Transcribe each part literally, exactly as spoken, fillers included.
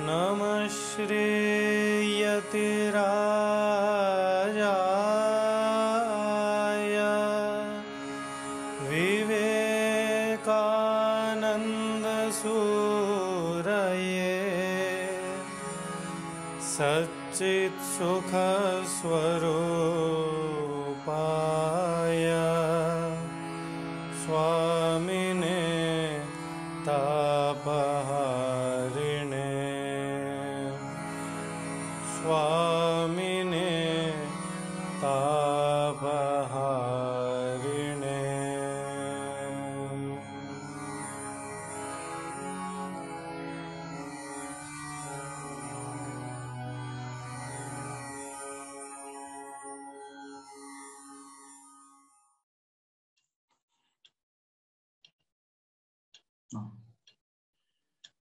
नमः श्रीयतिराजाय विवेकानन्दसूरये सच्चित्सुखस्वरूपाय स्वामिने तापहारिणे स्वामिने तापहारिणे।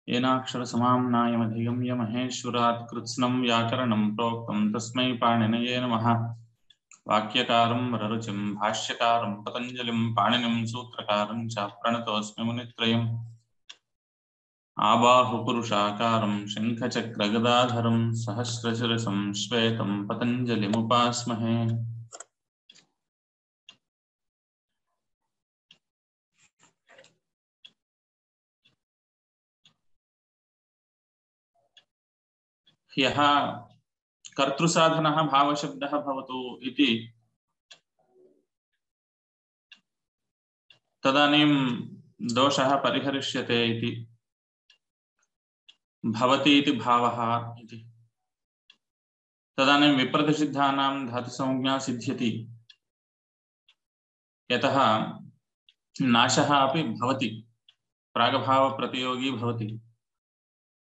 येनाक्षर समाम्नायमधिगम्य महेश्वरात् कृत्स्नं व्याकरणं प्रोक्तं तस्मै पाणिनये नमः। वाक्यकारं वररुचिं भाष्यकारं पतञ्जलिं पाणिनिं सूत्रकारं च प्रणतोऽस्मि मुनित्रयम्। आबाहुपुरुषाकारं शङ्खचक्रगदाधरं सहस्रशिरसं श्वेतं पतञ्जलिमुपास्महे। ह्यः कर्तृसाधनः भावशब्दः भवतु इति तदानीं दोषः परिहरिष्यते इति भवति इति भावः इति तदानीं विप्रतिषिद्धानां धातुसंज्ञा सिद्ध्यति यतः नाशः अपि भवति प्रागभावप्रतियोगी भवति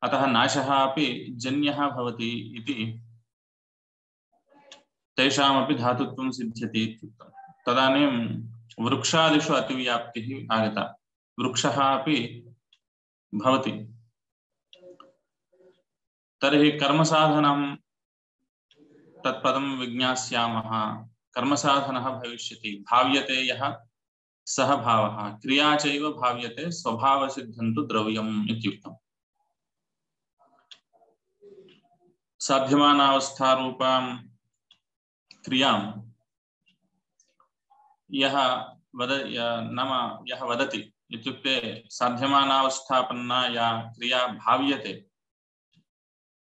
अतः नाशः अपि जन्यः भवति इति तेषामपि धातुत्वं सिद्ध्यति इत्युक्तम्। तदानीं वृक्षादिषु अतिव्याप्तिः आगता वृक्षः अपि भवति तर्हि कर्मसाधनं तत्पदं विज्ञास्यामः। कर्मसाधनः भविष्यति भाव्यते यः सः भावः क्रिया चैव भाव्यते स्वभावसिद्धं तु द्रव्यम् इत्युक्तम्। साध्यमानावस्थारूपां क्रियां यः वद नाम यः वदति इत्युक्ते साध्यमानावस्थापन्ना या क्रिया भाव्यते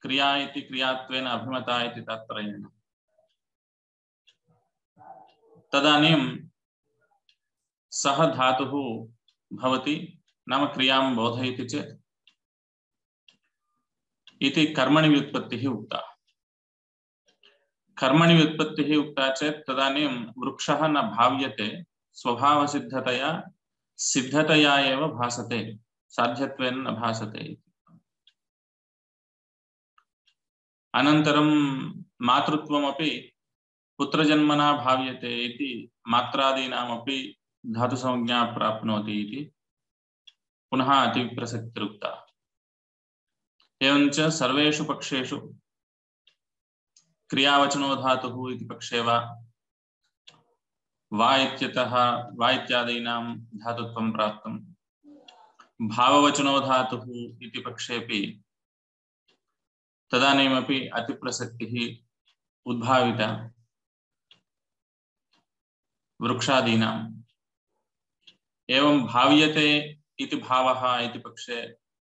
क्रिया इति क्रियात्वेन अभिमता इति तात्पर्येण तदानीं सः धातुः भवति नाम क्रियां बोधयति चेत् इति कर्मणि व्युत्पत्तिः उक्ता। कर्मणि व्युत्पत्तिः उक्ता चेत् तदानीं वृक्षः न भाव्यते स्वभावसिद्धतया सिद्धतया एव भासते साध्यत्वेन न भासते। अनन्तरं मातृत्वमपि पुत्रजन्मना भाव्यते इति मात्रादीनामपि धातुसंज्ञा प्राप्नोति इति पुनः अतिप्रसक्तिरुक्ता। एवञ्च सर्वेषु पक्षेषु क्रियावचनो धातुः इति पक्षे वा वा इत्यतः वा इत्यादीनां धातुत्वं प्राप्तं भाववचनो धातुः इति पक्षेपि तदानीमपि अतिप्रसक्तिः उद्भाविता वृक्षादीनाम्। एवं भाव्यते इति भावः इति पक्षे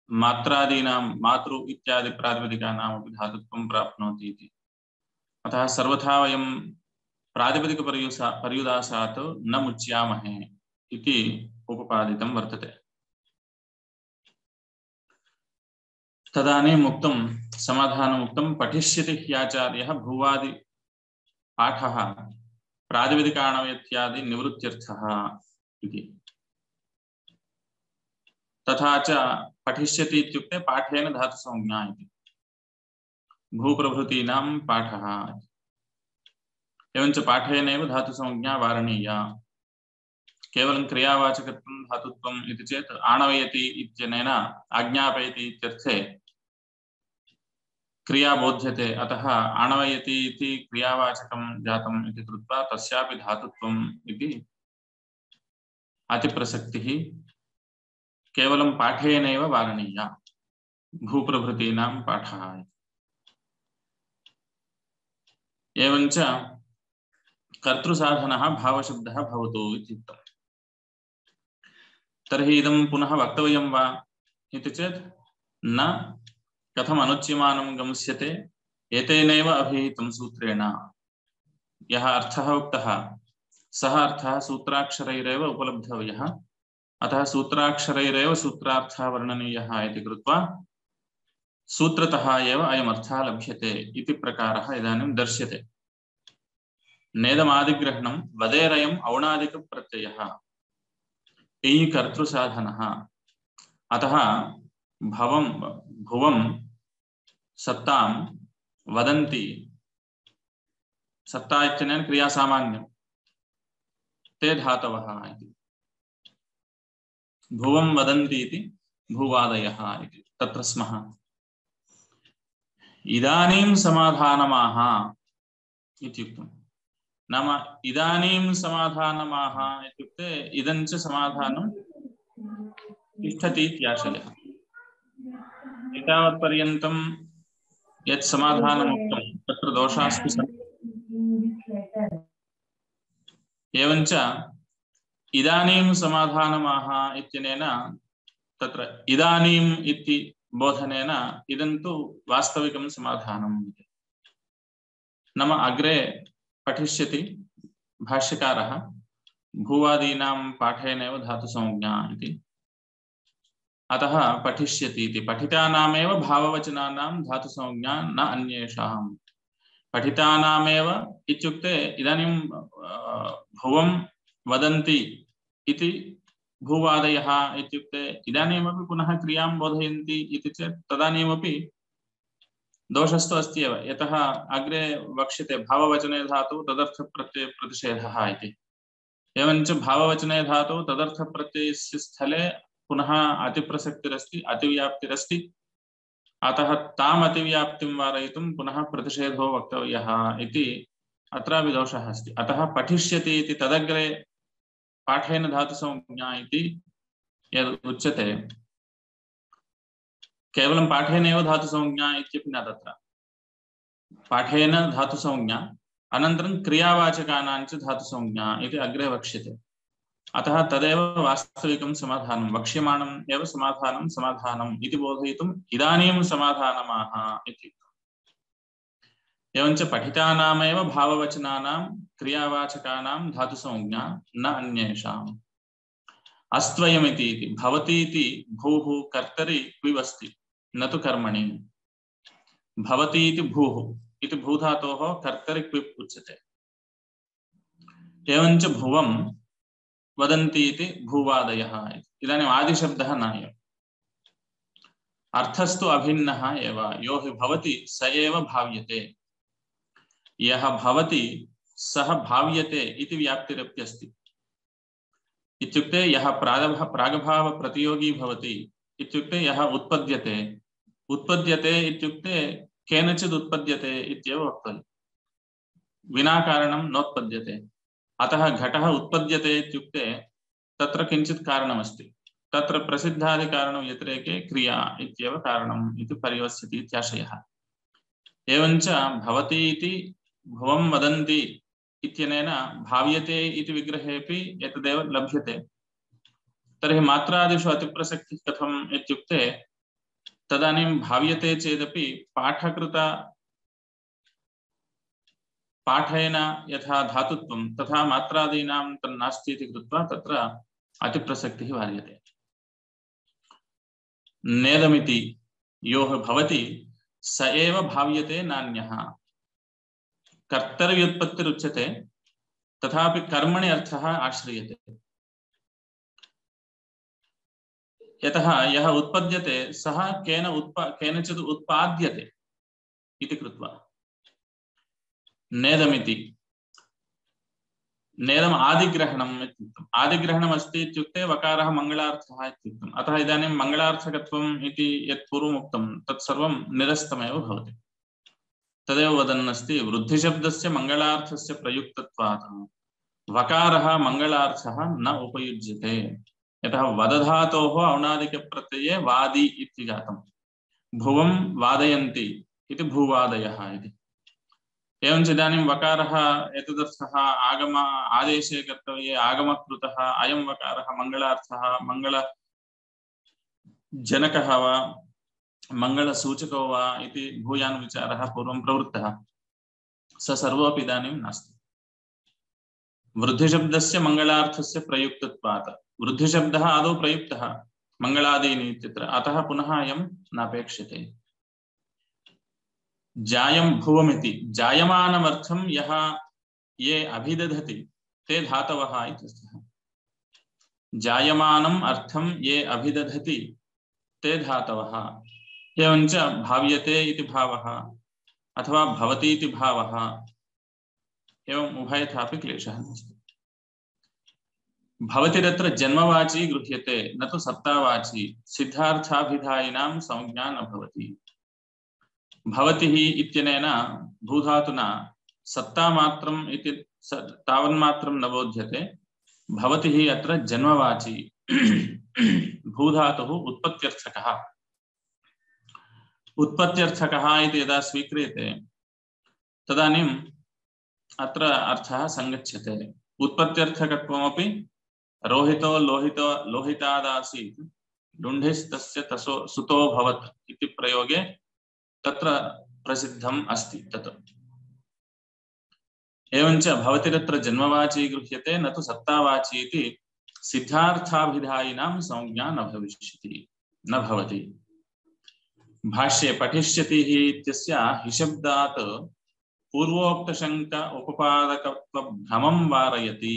मात्रादीनां मातृ इत्यादि प्रातिपदिकानामपि धातुत्वं प्राप्नोति इति। अतः सर्वथा वयं प्रातिपदिकपर्युसा पर्युदासात् न मुच्यामहे इति उपपादितं वर्तते। तदानीम् उक्तं समाधानमुक्तं पठिष्यति ह्याचार्यः भुवादि पाठः प्रातिपदिकाणव्यत्यादि निवृत्त्यर्थः इति। तथा च पठिष्यति इत्युक्ते पाठेन धातुसंज्ञा इति भूप्रभृतीनां पाठः। एवञ्च पाठेनैव धातुसंज्ञा वारणीया। केवलं क्रियावाचकत्वं धातुत्वम् इति चेत् आणवयति इत्यनेन आज्ञापयति इत्यर्थे क्रिया बोध्यते। अतः आणवयति इति क्रियावाचकं जातम् इति कृत्वा तस्यापि धातुत्वम् इति अतिप्रसक्तिः केवलं पाठेनैव वारणीया। भूप्रभृतीनां पाठः। एवञ्च कर्तृसाधनः भावशब्दः भवतु इत्युक्तम्। तर्हि इदं पुनः वक्तव्यं वा इति चेत् न, कथम् अनुच्यमानं गम्यते, एतेनैव अभिहितं सूत्रेण। यः अर्थः उक्तः सः अर्थः सूत्राक्षरैरेव उपलब्धव्यः, अतः सूत्राक्षरैरेव सूत्रार्थः वर्णनीयः इति कृत्वा सूत्रतः एव अयमर्थः लभ्यते इति प्रकारः इदानीं दर्श्यते। नेदमादिग्रहणं वदेरयम् औणादिकप्रत्ययः एयि कर्तृसाधनः। अतः भवं भुवं सत्तां वदन्ति, सत्ता इत्यनेन क्रियासामान्यं, ते धातवः इति। भुवं वदन्ति इति भूवादयः इति तत्र स्मः। इदानीं समाधानमाह इत्युक्तम्। नाम इदानीं समाधानमाह इत्युक्ते इदं च समाधानं तिष्ठति इत्याशयः। एतावत्पर्यन्तं यत् समाधानमुक्तं तत्र दोषास्तु सन्ति। एवञ्च इदानीं समाधानमाह इत्यनेन तत्र इदानीम् इति बोधनेन इदं तु वास्तविकं समाधानम् इति। नाम अग्रे पठिष्यति भाष्यकारः भूवादीनां पाठेनैव धातुसंज्ञा इति। अतः पठिष्यति इति पठितानामेव भाववचनानां धातुसंज्ञा न अन्येषां। पठितानामेव इत्युक्ते इदानीं भुवं वदन्ति इति भूवादयः इत्युक्ते इदानीमपि पुनः क्रियां बोधयन्ति इति चेत् तदानीमपि दोषस्तु अस्ति एव। यतः अग्रे वक्ष्यते भाववचने धातु तदर्थप्रत्यय प्रतिषेधः इति। एवञ्च भाववचने धातु तदर्थप्रत्ययस्य स्थले पुनः अतिप्रसक्तिरस्ति, अतिव्याप्तिरस्ति। अतः ताम् अतिव्याप्तिं वारयितुं पुनः प्रतिषेधो वक्तव्यः इति अत्रापि दोषः अस्ति। अतः पठिष्यति इति तदग्रे पाठेन धातुसंज्ञा इति यद् उच्यते, केवलं पाठेनैव धातुसंज्ञा इत्यपि न। तत्र पाठेन धातुसंज्ञा अनन्तरं क्रियावाचकानां च धातुसंज्ञा इति अग्रे वक्ष्यते। अतः तदेव वास्तविकं समाधानं, वक्ष्यमाणम् एव समाधानं समाधानम् इति बोधयितुम् इदानीं समाधानमाह इति। एवञ्च पठितानामेव भाववचनानां क्रियावाचकानां धातुसंज्ञा न अन्येषाम्। अस्त्वयमिति इति भवति इति भूः कर्तरि क्विवस्ति न तु कर्मणि। भवति इति भूः इति भूधातोः कर्तरि क्विप् उच्यते। एवञ्च भुवं वदन्ति इति भूवादयः। इदानीम् आदिशब्दः नायम्, अर्थस्तु अभिन्नः एव। यो हि भवति स एव भाव्यते। यः भवति सः भाव्यते इति व्याप्तिरप्यस्ति। इत्युक्ते यः प्रागभाव प्रतियोगी भवति इत्युक्ते यः उत्पद्यते। उत्पद्यते इत्युक्ते केनचित् उत्पद्यते इत्येव वक्तव्यम्, विना कारणं नोत्पद्यते। अतः घटः उत्पद्यते इत्युक्ते तत्र किञ्चित् कारणमस्ति। तत्र प्रसिद्धादिकारणं व्यतिरेके क्रिया इत्येव कारणम् इति परिवस्यति इत्याशयः। एवञ्च भवति इति भुवं वदन्ति इत्यनेन भाव्यते इति विग्रहेपि एतदेव लभ्यते। तर्हि मात्रादिषु अतिप्रसक्तिः कथम् इत्युक्ते तदानीं भाव्यते चेदपि पाठकृत पाठेन यथा धातुत्वं तथा मात्रादीनां तन्नास्ति इति कृत्वा तत्र अतिप्रसक्तिः वार्यते। नेदमिति योः भवति स एव भाव्यते नान्यः। कर्तव्युत्पत्तिरुच्यते, तथापि कर्मणि अर्थः आश्रियते। यतः यः उत्पद्यते सः केन उत्प केनचित् उत्पाद्यते इति कृत्वा। नेदमिति नेदम् आदिग्रहणम् इत्युक्तम्। आदिग्रहणम् अस्ति इत्युक्ते वकारः मङ्गलार्थः इत्युक्तम्। अतः इदानीं मङ्गलार्थकत्वम् इति यत् पूर्वमुक्तं तत्सर्वं निरस्तमेव भवति। तदेव वदन्नस्ति वृद्धिशब्दस्य मङ्गलार्थस्य प्रयुक्तत्वात् वकारः मङ्गलार्थः न उपयुज्यते। यतः वदधातोः औणादिकप्रत्यये वादि इति जातम्। भुवं वादयन्ति इति भूवादयः इति। एवञ्च इदानीं वकारः एतदर्थः आगम आदेशे कर्तव्ये आगमकृतः अयं वकारः मङ्गलार्थः मङ्गलजनकः वा मङ्गलसूचको वा इति भूयान् विचारः पूर्वं प्रवृत्तः, स सर्वोऽपि इदानीं नास्ति। वृद्धिशब्दस्य मङ्गलार्थस्य प्रयुक्तत्वात् वृद्धिशब्दः आदौ प्रयुक्तः मङ्गलादीनि इत्यत्र, अतः पुनः अयं नापेक्ष्यते। जायं भुवमिति जायमानमर्थं यः ये अभिदधति ते धातवः इत्यर्थः। जायमानम् अर्थं ये अभिदधति ते धातवः। एवञ्च भाव्यते इति भावः अथवा भवति इति भावः, एवम् उभयथापि क्लेशः नास्ति। भवतिरत्र जन्मवाची गृह्यते न तु सत्तावाची, सिद्धार्थाभिधायिनां संज्ञा न भवति। भवतिः इत्यनेन भूधातुना सत्तामात्रम् इति तावन्मात्रं न बोध्यते। भवतिः अत्र जन्मवाची भूधातुः उत्पत्त्यर्थकः। उत्पत्त्यर्थकः इति यदा स्वीक्रियते तदानीम् अत्र अर्थः सङ्गच्छते। उत्पत्त्यर्थकत्वमपि रोहितो लोहितो लोहितादासीत् लुण्ढिस्तस्य तसो सुतो भवत् इति प्रयोगे तत्र प्रसिद्धम् अस्ति तत्। एवञ्च भवतिरत्र जन्मवाची गृह्यते न तु सत्तावाची इति सिद्धार्थाभिधायिनां संज्ञा न भविष्यति न भवति। भाष्ये पठिष्यति इत्यस्य हिशब्दात् पूर्वोक्तशङ्क उपपादकत्वभ्रमं वारयति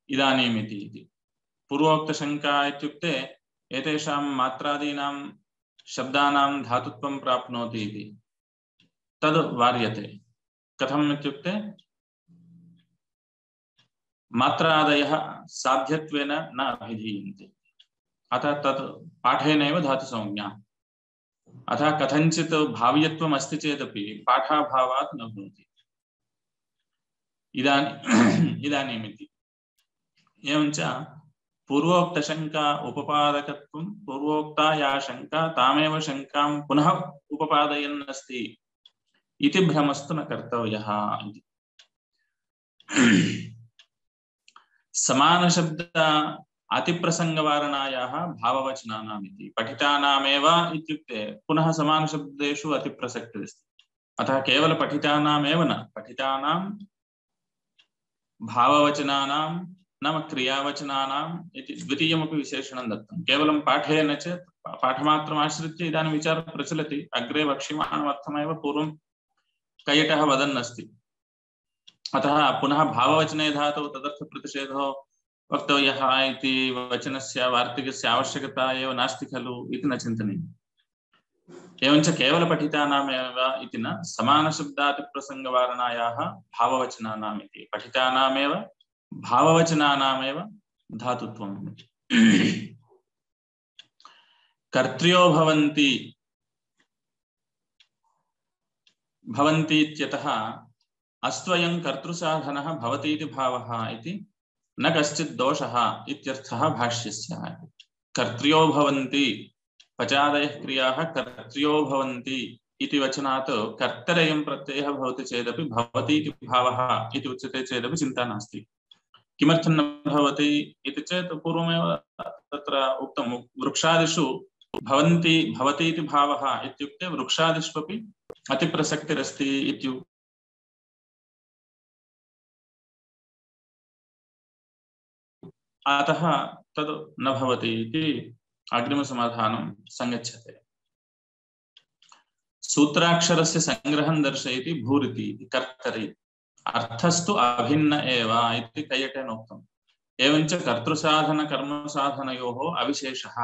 इदानीमिति इति। पूर्वोक्तशङ्का इत्युक्ते एतेषां मात्रादीनां शब्दानां धातुत्वं प्राप्नोति इति, तद् वार्यते। कथम् इत्युक्ते मात्रादयः साध्यत्वेन न अभिधीयन्ते, अतः तत् पाठेनैव धातुसंज्ञा। अतः कथञ्चित् भाव्यत्वम् अस्ति चेदपि पाठाभावात् न भवति इदानीम् इदानीमिति। एवञ्च पूर्वोक्तशङ्का उपपादकत्वं पूर्वोक्ता या शङ्का तामेव शङ्कां पुनः उपपादयन् अस्ति इति भ्रमस्तु न कर्तव्यः इति। समानशब्द अतिप्रसङ्गवारणायाः भाववचनानाम् इति पठितानामेव इत्युक्ते पुनः समानशब्देषु अतिप्रसक्तिरस्ति। अतः केवल पठितानामेव न, पठितानां भाववचनानां नाम क्रियावचनानाम् इति द्वितीयमपि विशेषणं दत्तं। केवलं पाठेन चेत् पाठमात्रम् आश्रित्य इदानीं विचारः प्रचलति। अग्रे वक्ष्यमाणमर्थमेव पूर्वं कैयटः वदन् अस्ति। अतः पुनः भाववचने धातौ तदर्थप्रतिषेधो वक्तव्यः इति वचनस्य वार्तिकस्य आवश्यकता एव नास्ति खलु इति न चिन्तनीयम्। एवञ्च केवलपठितानामेव इति न, समानशब्दातिप्रसङ्गवारणायाः भाववचनानाम् इति पठितानामेव भाववचनानामेव धातुत्वम्। कर्त्र्यो भवन्ति भवन्ति इत्यतः अस्त्वयं कर्तृसाधनः भवति इति भावः इति न कश्चित् दोषः इत्यर्थः भाष्यस्य। कर्त्र्यो भवन्ति पचादयः क्रियाः कर्त्र्यो भवन्ति इति वचनात् कर्तरेयं प्रत्ययः भवति चेदपि भवति इति भावः इति उच्यते चेदपि चिन्ता नास्ति। किमर्थं न भवति इति चेत् पूर्वमेव तत्र उक्तं वृक्षादिषु भवन्ति भवति इति भावः इत्युक्ते वृक्षादिष्वपि अतिप्रसक्तिरस्ति इत्यु अतः तद् न भवति इति अग्रिमसमाधानं सङ्गच्छते। सूत्राक्षरस्य संग्रहं दर्शयति भूरिति इति कर्तरि, अर्थस्तु अभिन्न एव इति कैयटेन उक्तम्। एवञ्च कर्तृसाधन कर्मसाधनयोः अविशेषः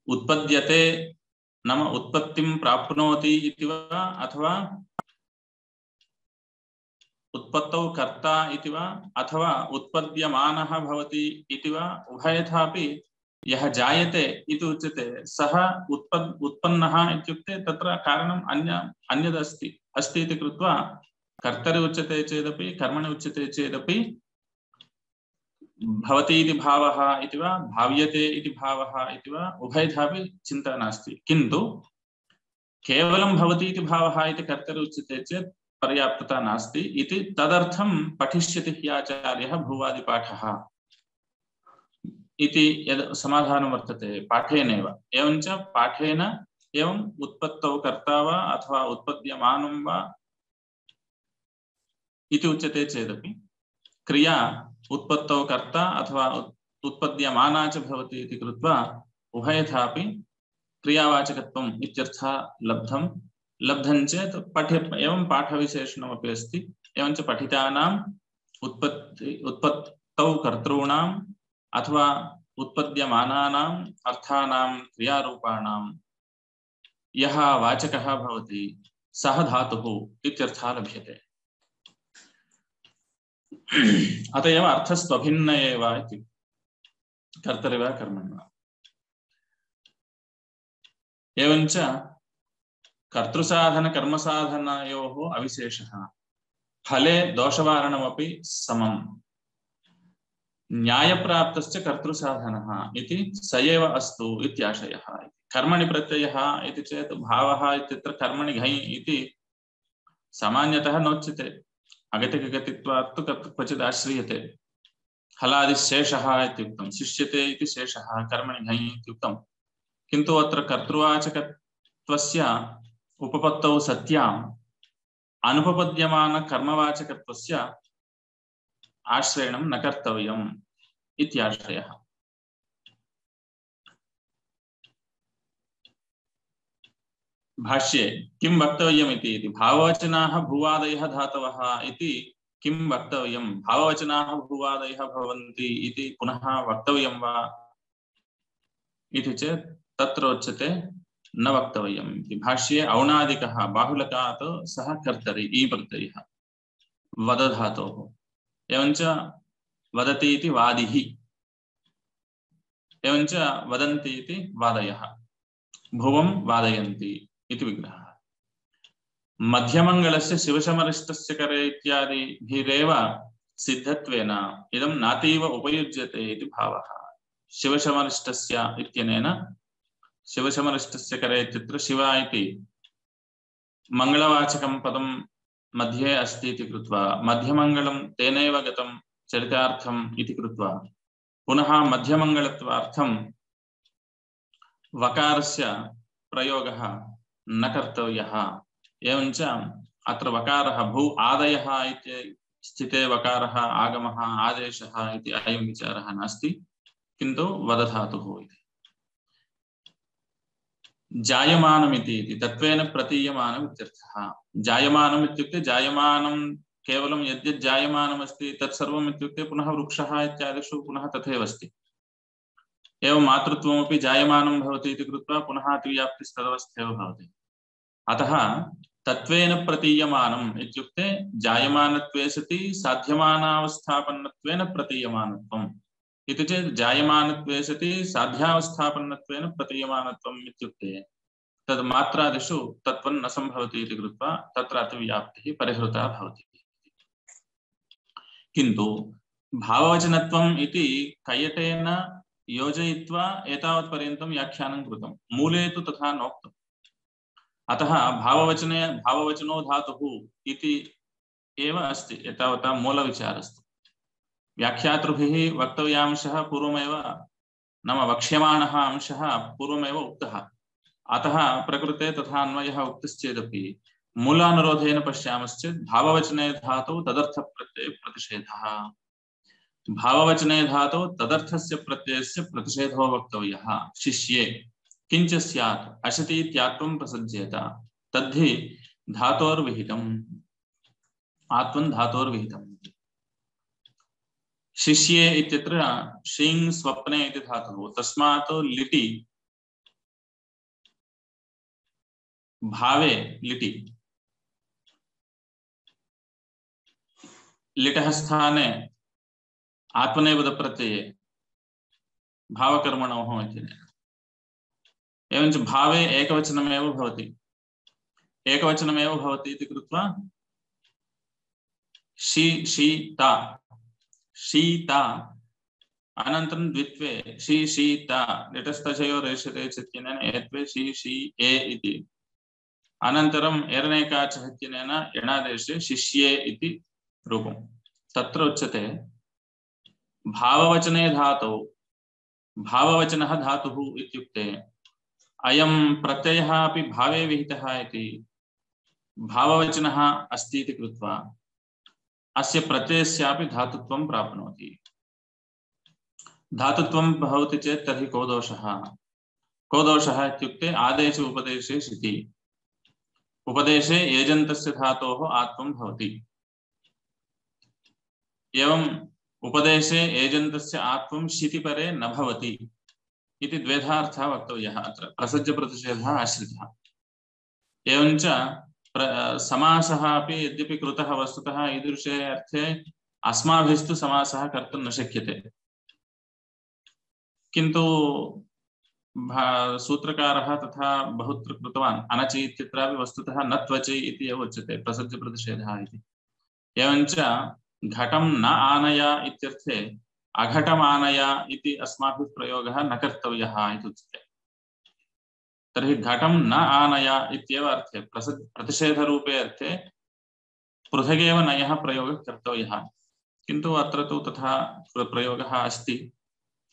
उत्पद्यते नाम उत्पत्तिं प्राप्नोति इति वा अथवा उत्पत्तौ कर्ता इति वा अथवा उत्पद्यमानः भवति इति वा उभयथापि यः जायते इति उच्यते सः उत्पद् उत्पन्नः इत्युक्ते तत्र कारणम् अन्य अन्यदस्ति अस्ति इति कृत्वा कर्तरि उच्यते चेदपि कर्मणि उच्यते चेदपि भवति इति भावः इति वा भाव्यते इति भावः इति वा उभयथापि चिन्ता नास्ति किन्तु केवलं भवति इति भावः इति कर्तरि उच्यते चेत् पर्याप्तता नास्ति इति तदर्थं पठिष्यति हि आचार्यः भूवादिपाठः इति यद् समाधानं वर्तते पाठेनैव एवञ्च पाठेन एवम् उत्पत्तौ कर्ता वा अथवा उत्पद्यमानं वा इति उच्यते चेदपि क्रिया उत्पत्तौ कर्ता अथवा उत्पद्यमाना च भवति इति कृत्वा उभयथापि क्रियावाचकत्वम् इत्यर्थः लब्धं लब्धं चेत् पठे एवं पाठविशेषणमपि अस्ति एवञ्च पठितानाम् उत्पत्ति उत्पत्तौ कर्तॄणाम् अथवा उत्पद्यमानानाम् अर्थानां क्रियारूपाणां यः वाचकः भवति सः धातुः इत्यर्थः लभ्यते अत एव अर्थस्त्वभिन्न एव इति कर्तरि वा कर्मणि वा एवञ्च कर्तृसाधन कर्मसाधनयोः अविशेषः फले दोषवारणमपि समम् न्यायप्राप्तश्च कर्तृसाधनः इति स एव अस्तु इत्याशयः कर्मणि प्रत्ययः इति चेत् भावः इत्यत्र कर्मणि घञ् इति सामान्यतः नोच्यते अगतिकगतित्वात् तु क्वचित् आश्रीयते हलादिशेषः इत्युक्तं शिष्यते इति शेषः कर्मणि घञ् इत्युक्तं किन्तु अत्र कर्तृवाचकत्वस्य उपपत्तौ सत्याम् अनुपपद्यमान कर्मवाचकत्वस्य आश्रयणं न कर्तव्यम् इत्याश्रयः भाष्ये किं वक्तव्यमिति इति भाववचनाः भूवादयः धातवः इति किं वक्तव्यं भाववचनाः भूवादयः भवन्ति इति पुनः वक्तव्यं वा इति चेत् तत्र उच्यते न वक्तव्यम् इति भाष्ये औणादिकः बाहुलकात् सः कर्तरि ई प्रत्ययः वदधातोः एवञ्च वदति इति वादिः एवञ्च वदन्ति इति वादयः भुवं वादयन्ति इति विग्रहः मध्यमङ्गलस्य शिवशमरिष्टस्य करे इत्यादिभिरेव सिद्धत्वेन इदं नातीव उपयुज्यते इति भावः शिवशमरिष्टस्य इत्यनेन शिवशमरिष्टस्य करे इत्यत्र शिव इति मङ्गलवाचकं पदं मध्ये अस्ति इति कृत्वा मध्यमङ्गलं तेनैव गतं चरितार्थम् इति कृत्वा पुनः मध्यमङ्गलत्वार्थं वकारस्य प्रयोगः न कर्तव्यः एवञ्च अत्र वकारः भू आदयः इति स्थिते वकारः आगमः आदेशः इति अयं विचारः नास्ति किन्तु वदधातुः इति जायमानमिति इति तत्त्वेन प्रतीयमानम् इत्यर्थः जायमानम् इत्युक्ते जायमानं केवलं यद्यद् जायमानमस्ति तत्सर्वम् इत्युक्ते पुनः वृक्षः इत्यादिषु पुनः तथैव अस्ति एवं मातृत्वमपि जायमानं भवति इति कृत्वा पुनः अतिव्याप्तिस्तदवस्थेव भवति अतः तत्त्वेन प्रतीयमानम् इत्युक्ते जायमानत्वे सति साध्यमानावस्थापन्नत्वेन प्रतीयमानत्वम् इति चेत् जायमानत्वे सति साध्यावस्थापन्नत्वेन प्रतीयमानत्वम् इत्युक्ते तद् मात्रादिषु तत्त्वं न सम्भवति इति कृत्वा तत्र अतिव्याप्तिः परिहृता भवति किन्तु भाववचनत्वम् इति कयटेन योजयित्वा एतावत्पर्यन्तं व्याख्यानं कृतं मूले तु तथा नोक्तम् अतः भाववचने भाववचनो धातुः इति एव अस्ति एतावता मूलविचारस्तु व्याख्यातृभिः वक्तव्यांशः पूर्वमेव नाम वक्ष्यमाणः अंशः पूर्वमेव उक्तः अतः प्रकृते तथा अन्वयः उक्तश्चेदपि मूलानुरोधेन पश्यामश्चेत् भाववचने धातौ तदर्थप्रत्यये प्रतिषेधः भाववचने धातौ तदर्थस्य प्रत्ययस्य प्रतिषेधो वक्तव्यः शिष्ये किंच स्यात् अशति इत्यात्वं प्रसज्येत तद्धि धातोर्विहितम् आत्मन् धातोर्विहितम् शिष्ये इत्यत्र शिङ् स्वप्ने इति धातुः तस्मात् लिटि भावे लिटि लिटः स्थाने आत्मनेपदप्रत्यये भावकर्मणोः इत्यनेन एवञ्च भावे एकवचनमेव भवति एकवचनमेव भवति इति कृत्वा शी शीता शीता अनन्तरं द्वित्वे शी शीत लिटस्तचयोः रेषते चित्तेन एत्वे शी शी ए इति अनन्तरम् एरनेकाचः इत्यनेन यणादेशे शिष्ये इति रूपं तत्र उच्यते भाववचने धातौ भाववचनः धातुः इत्युक्ते अयं प्रत्ययः अपि भावे विहितः इति भाववचनः अस्ति इति कृत्वा अस्य प्रत्ययस्यापि धातुत्वं प्राप्नोति धातुत्वं भवति चेत् तर्हि को दोषः को दोषः इत्युक्ते आदेश उपदेशे शिति उपदेशे एजन्तस्य धातोः आत्वं भवति एवं उपदेशे एजन्तस्य आत्वं शितिपरे न भवति इति द्वेधा अर्थः वक्तव्यः अत्र प्रसज्यप्रतिषेधः आश्रितः एवञ्च समासः अपि यद्यपि कृतः वस्तुतः ईदृशे अर्थे अस्माभिस्तु समासः कर्तुं न शक्यते किन्तु सूत्रकारः तथा बहुत्र कृतवान् अनचि इत्यत्रापि वस्तुतः न त्वचि इति एव उच्यते प्रसज्यप्रतिषेधः इति एवञ्च घटं न आनय इत्यर्थे अघटमानय इति अस्माभिः प्रयोगः न कर्तव्यः इति उच्यते तर्हि घटं न आनय इत्येव अर्थे प्रसज्य प्रतिषेधरूपे अर्थे पृथगेव नयः प्रयोगः कर्तव्यः किन्तु अत्र तु तथा प्रयोगः अस्ति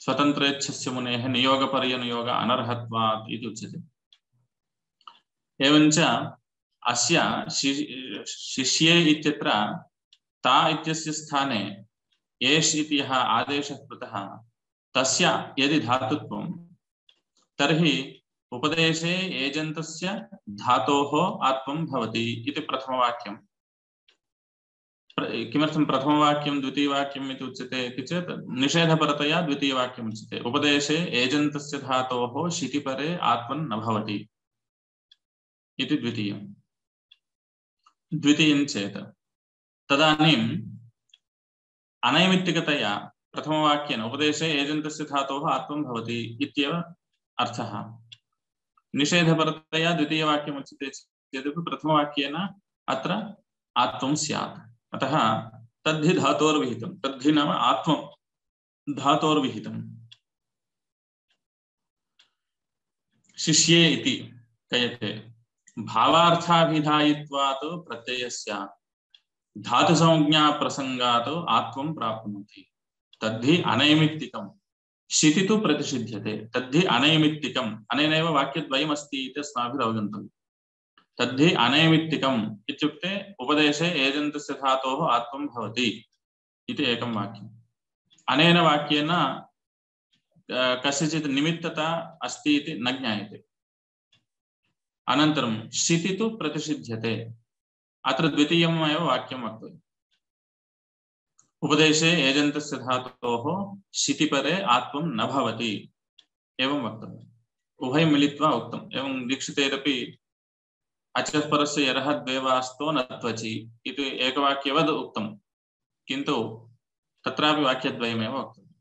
स्वतन्त्रेच्छस्य मुनेः नियोगपर्यनुयोग अनर्हत्वात् इति उच्यते एवञ्च अस्य शिष्ये इत्यत्र ता इत्यस्य स्थाने एष् इति यः आदेशः कृतः तस्य यदि धातुत्वं तर्हि उपदेशे एजन्तस्य धातोः आत्वं भवति इति प्रथमवाक्यं किमर्थं प्रथमवाक्यं द्वितीयवाक्यम् इति उच्यते इति चेत् निषेधपरतया द्वितीयवाक्यम् उच्यते उपदेशे एजन्तस्य धातोः शितिपरे आत्वं न भवति इति द्वितीयं द्वितीयं चेत् तदानीम् अनैमित्तिकतया प्रथमवाक्येन उपदेशे एजन्तस्य धातोः आत्वं भवति इत्येव अर्थः निषेधपरतया द्वितीयवाक्यम् उच्यते चेदपि प्रथमवाक्येन अत्र आत्वं स्यात् अतः तद्धि धातोर्विहितं तद्धि नाम आत्वं धातोर्विहितं शिष्ये इति कयते भावार्थाभिधायित्वात् प्रत्ययस्य धातुसंज्ञा प्रसंगात् आत्वं प्राप्नोति तद्धि अनैमित्तिकं शिति तु प्रतिषिध्यते तद्धि अनैमित्तिकम् अनेनैव वाक्यद्वयमस्ति इति अस्माभिः अवगन्तव्यम् तद्धि अनैमित्तिकम् इत्युक्ते उपदेशे एजन्तस्य धातोः आत्वं भवति इति एकं वाक्यम् अनेन वाक्येन कस्यचित् निमित्तता अस्ति इति न ज्ञायते अनन्तरं शिति तु प्रतिषिध्यते अत्र द्वितीयम् एव वाक्यं वक्तव्यम् उपदेशे एजन्तस्य धातोः शितिपरे आत्वं न भवति एवं वक्तव्यम् उभयं मिलित्वा उक्तम् एवं दीक्षितेरपि अचः परस्य यरः द्वेवास्तो न त्वचि इति एकवाक्यवद् उक्तं किन्तु तत्रापि वाक्यद्वयमेव वक्तव्यम्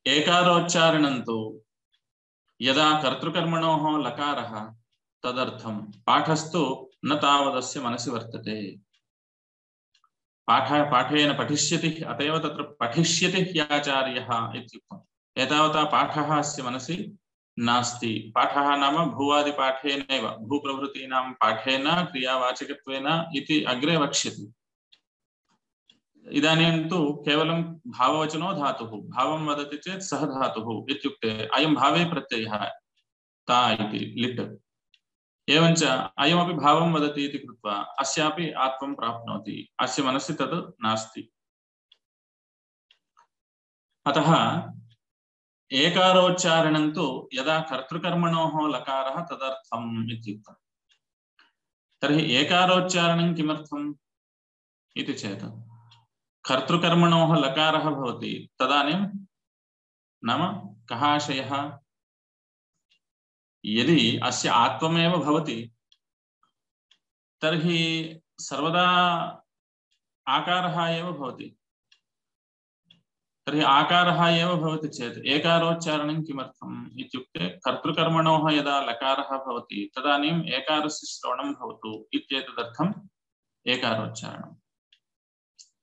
एकारोच्चारणं तु यदा कर्तृकर्मणोः लकारः तदर्थं पाठस्तु न तावदस्य मनसि वर्तते पाठ पाठेन पठिष्यति अतएव तत्र पठिष्यति ह्याचार्यः इत्युक्तम् एतावता पाठः अस्य मनसि नास्ति पाठः नाम भूवादिपाठेनैव भूप्रभृतीनां पाठेन क्रियावाचकत्वेन इति अग्रे वक्ष्यति इदानीं तु केवलं भाववचनो धातुः भावं वदति चेत् सः धातुः इत्युक्ते अयं भावे प्रत्ययः ता इति लिट् एवञ्च अयमपि भावं वदति इति कृत्वा अस्यापि आत्वं प्राप्नोति अस्य मनसि तद् नास्ति अतः एकारोच्चारणं तु यदा कर्तृकर्मणोः लकारः तदर्थम् इत्युक्तम् तर्हि एकारोच्चारणं किमर्थम् इति चेत् कर्तृकर्मणोः लकारः भवति तदानीं नाम कः आशयः यदि अस्य आत्वमेव भवति तर्हि सर्वदा आकारः एव भवति तर्हि आकारः एव भवति चेत् एकारोच्चारणं किमर्थम् इत्युक्ते कर्तृकर्मणोः यदा लकारः भवति तदानीम् एकारस्य श्रवणं भवतु इत्येतदर्थम् एकारोच्चारणम्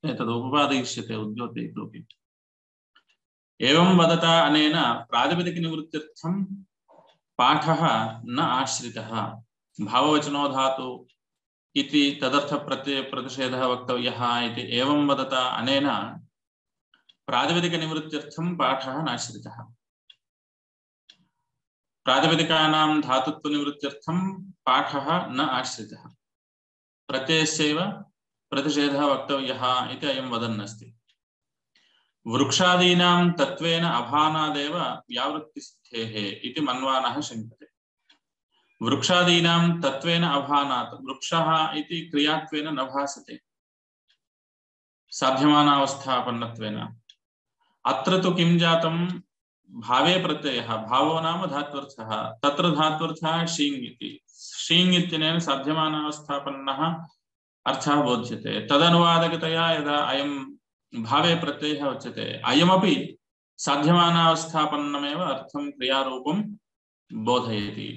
एतद् उपपादयिष्यते उद्योतयितोपि एवं वदता अनेन प्रातिपदिकनिवृत्त्यर्थं पाठः न आश्रितः। भाववचनो धातु इति तदर्थ प्रत्यय प्रतिषेधः वक्तव्यः इति एवं वदता अनेन प्रातिपदिकनिवृत्त्यर्थं पाठः नाश्रितः। प्रातिपदिकानां धातुत्वनिवृत्त्यर्थं पाठः न आश्रितः। प्रत्ययस्यैव प्रतिषेधः वक्तव्यः इति अयं वदन्नस्ति। वृक्षादीनां तत्त्वेन अभानादेव व्यावृत्तिसिद्धेः इति मन्वानः शङ्कते। वृक्षादीनां तत्त्वेन अभानात् वृक्षः इति क्रियात्वेन न भासते साध्यमानावस्थापन्नत्वेन। अत्र तु किं जातं भावे प्रत्ययः, भावो नाम धात्वर्थः, तत्र धात्वर्थः शीङ् इति। शीङ् इत्यनेन साध्यमानावस्थापन्नः अर्थः बोध्यते। तदनुवादकतया यदा अयं भावे प्रत्ययः उच्यते अयमपि साध्यमानावस्थापन्नमेव अर्थं क्रियारूपं बोधयति।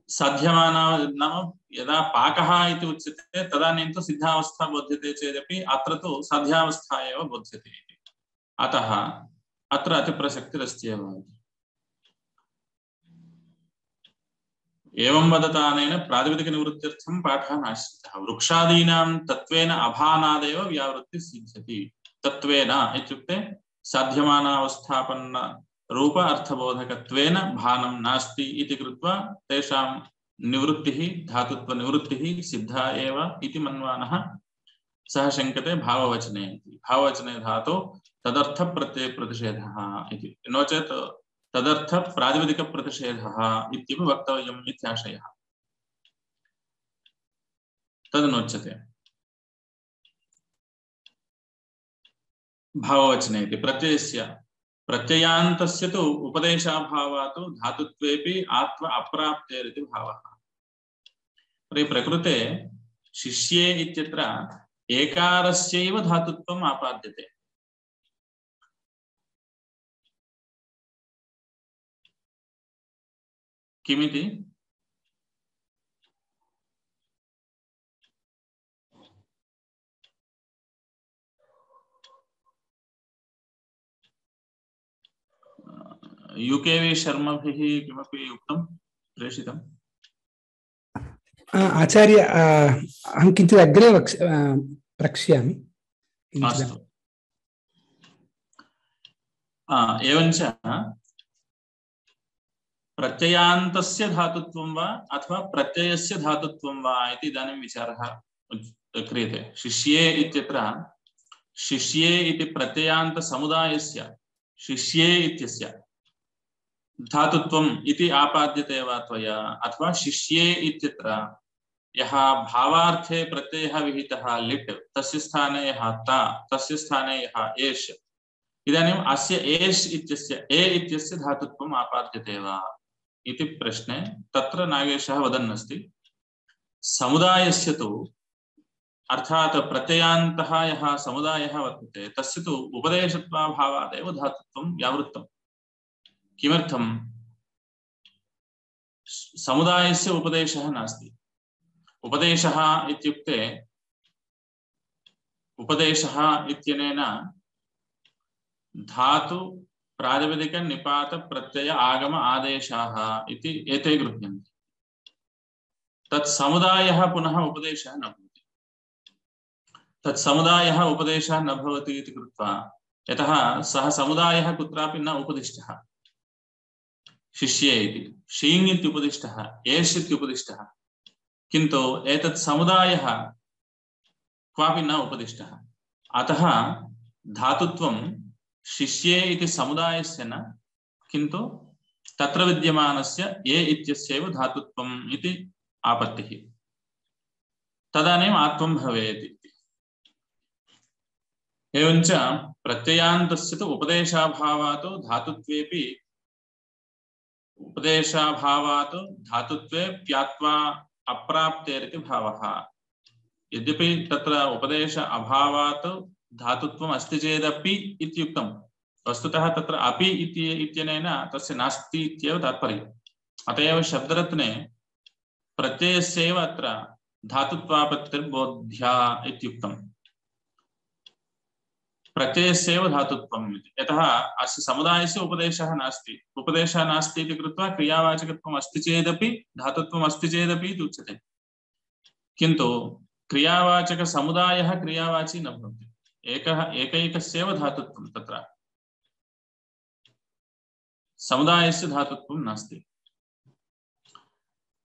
साध्यमाना नाम यदा पाकः इति उच्यते तदानीं तु सिद्धावस्था बोध्यते चेदपि अत्र तु साध्यावस्था एव बोध्यते इति। अतः अत्र अतिप्रसक्तिरस्त्येव। एवं वदतानेन प्रातिपदिकनिवृत्त्यर्थं पाठः नाश्रितः। वृक्षादीनां तत्त्वेन अभानादेव व्यावृत्तिः सिद्ध्यति। तत्त्वेन इत्युक्ते साध्यमानावस्थापन्न रूप अर्थबोधकत्वेन भानं नास्ति इति कृत्वा तेषां निवृत्तिः धातुत्वनिवृत्तिः सिद्धा एव इति मन्वानः सः शङ्कते भाववचने इति। भाववचने धातु तदर्थ प्रत्यय प्रतिषेधः इति, नो चेत् तदर्थ प्रातिपदिक प्रतिषेधः इत्यपि वक्तव्यम् इत्याशयः। तदनुच्यते भाववचने इति प्रत्ययस्य प्रत्ययान्तस्य तु उपदेशाभावात् धातुत्वेपि आत्व अप्राप्तेरिति भावः। तर्हि प्रकृते शिष्ये इत्यत्र एकारस्यैव धातुत्वम् आपाद्यते। किमिति? यूकेवी शर्मभिः किमपि उक्तं प्रेषितम्? आचार्य अहं किञ्चित् अग्रे वक्ष प्रक्ष्यामि। अस्तु। एवञ्च प्रत्ययान्तस्य धातुत्वं वा अथवा प्रत्ययस्य धातुत्वं वा इति इदानीं विचारः क्रियते। शिष्ये इत्यत्र शिष्ये इति प्रत्ययान्तसमुदायस्य शिष्ये इत्यस्य धातुत्वम् इति आपाद्यते वा त्वया, अथवा शिष्ये इत्यत्र यः भावार्थे प्रत्ययः विहितः लिट् तस्य स्थाने यः ता तस्य स्थाने यः एष्, इदानीम् अस्य एष् इत्यस्य ए इत्यस्य धातुत्वम् आपाद्यते वा इति प्रश्ने तत्र नागेशः वदन्नस्ति समुदायस्य तु अर्थात् प्रत्ययान्तः यः समुदायः वर्तते तस्य तु उपदेशत्वाभावादेव धातुत्वं व्यावृत्तम्। किमर्थं? समुदायस्य उपदेशः नास्ति। उपदेशः इत्युक्ते उपदेशः इत्यनेन धातु प्रातिपदिक निपात प्रत्यय आगम आदेशाः इति एते गृह्यन्ते। तत्समुदायः पुनः उपदेशः न भवति। तत्समुदायः उपदेशः न भवति इति कृत्वा यतः सः समुदायः कुत्रापि न उपदिष्टः। शिष्ये इति शीङ् इत्युपदिष्टः, एष् इत्युपदिष्टः, किन्तु एतत् समुदायः क्वापि न उपदिष्टः। अतः धातुत्वं शिष्ये इति समुदायस्य न, किन्तु तत्र विद्यमानस्य ए इत्यस्यैव धातुत्वम् इति आपत्तिः। तदानीम् आत्वं भवेत् इति। एवञ्च प्रत्ययान्तस्य तु उपदेशाभावात् धातुत्वेपि उपदेशाभावात् धातुत्वे प्यात्वा अप्राप्तेरिति भावः। यद्यपि तत्र उपदेश अभावात् धातुत्वम् अस्ति चेदपि इत्युक्तं, वस्तुतः तत्र अपि इति इत्यनेन तस्य नास्ति इत्येव तात्पर्यम्। अत एव शब्दरत्ने प्रत्ययस्यैव अत्र धातुत्वापत्तिर्बोध्या इत्युक्तम्। प्रत्ययस्यैव धातुत्वम् इति। यतः अस्य समुदायस्य उपदेशः नास्ति, उपदेशः नास्ति इति कृत्वा क्रियावाचकत्वम् अस्ति चेदपि धातुत्वम् अस्ति चेदपि इति उच्यते। किन्तु क्रियावाचकसमुदायः क्रियावाची न भवति, एकः एकैकस्यैव धातुत्वं, तत्र समुदायस्य धातुत्वं नास्ति।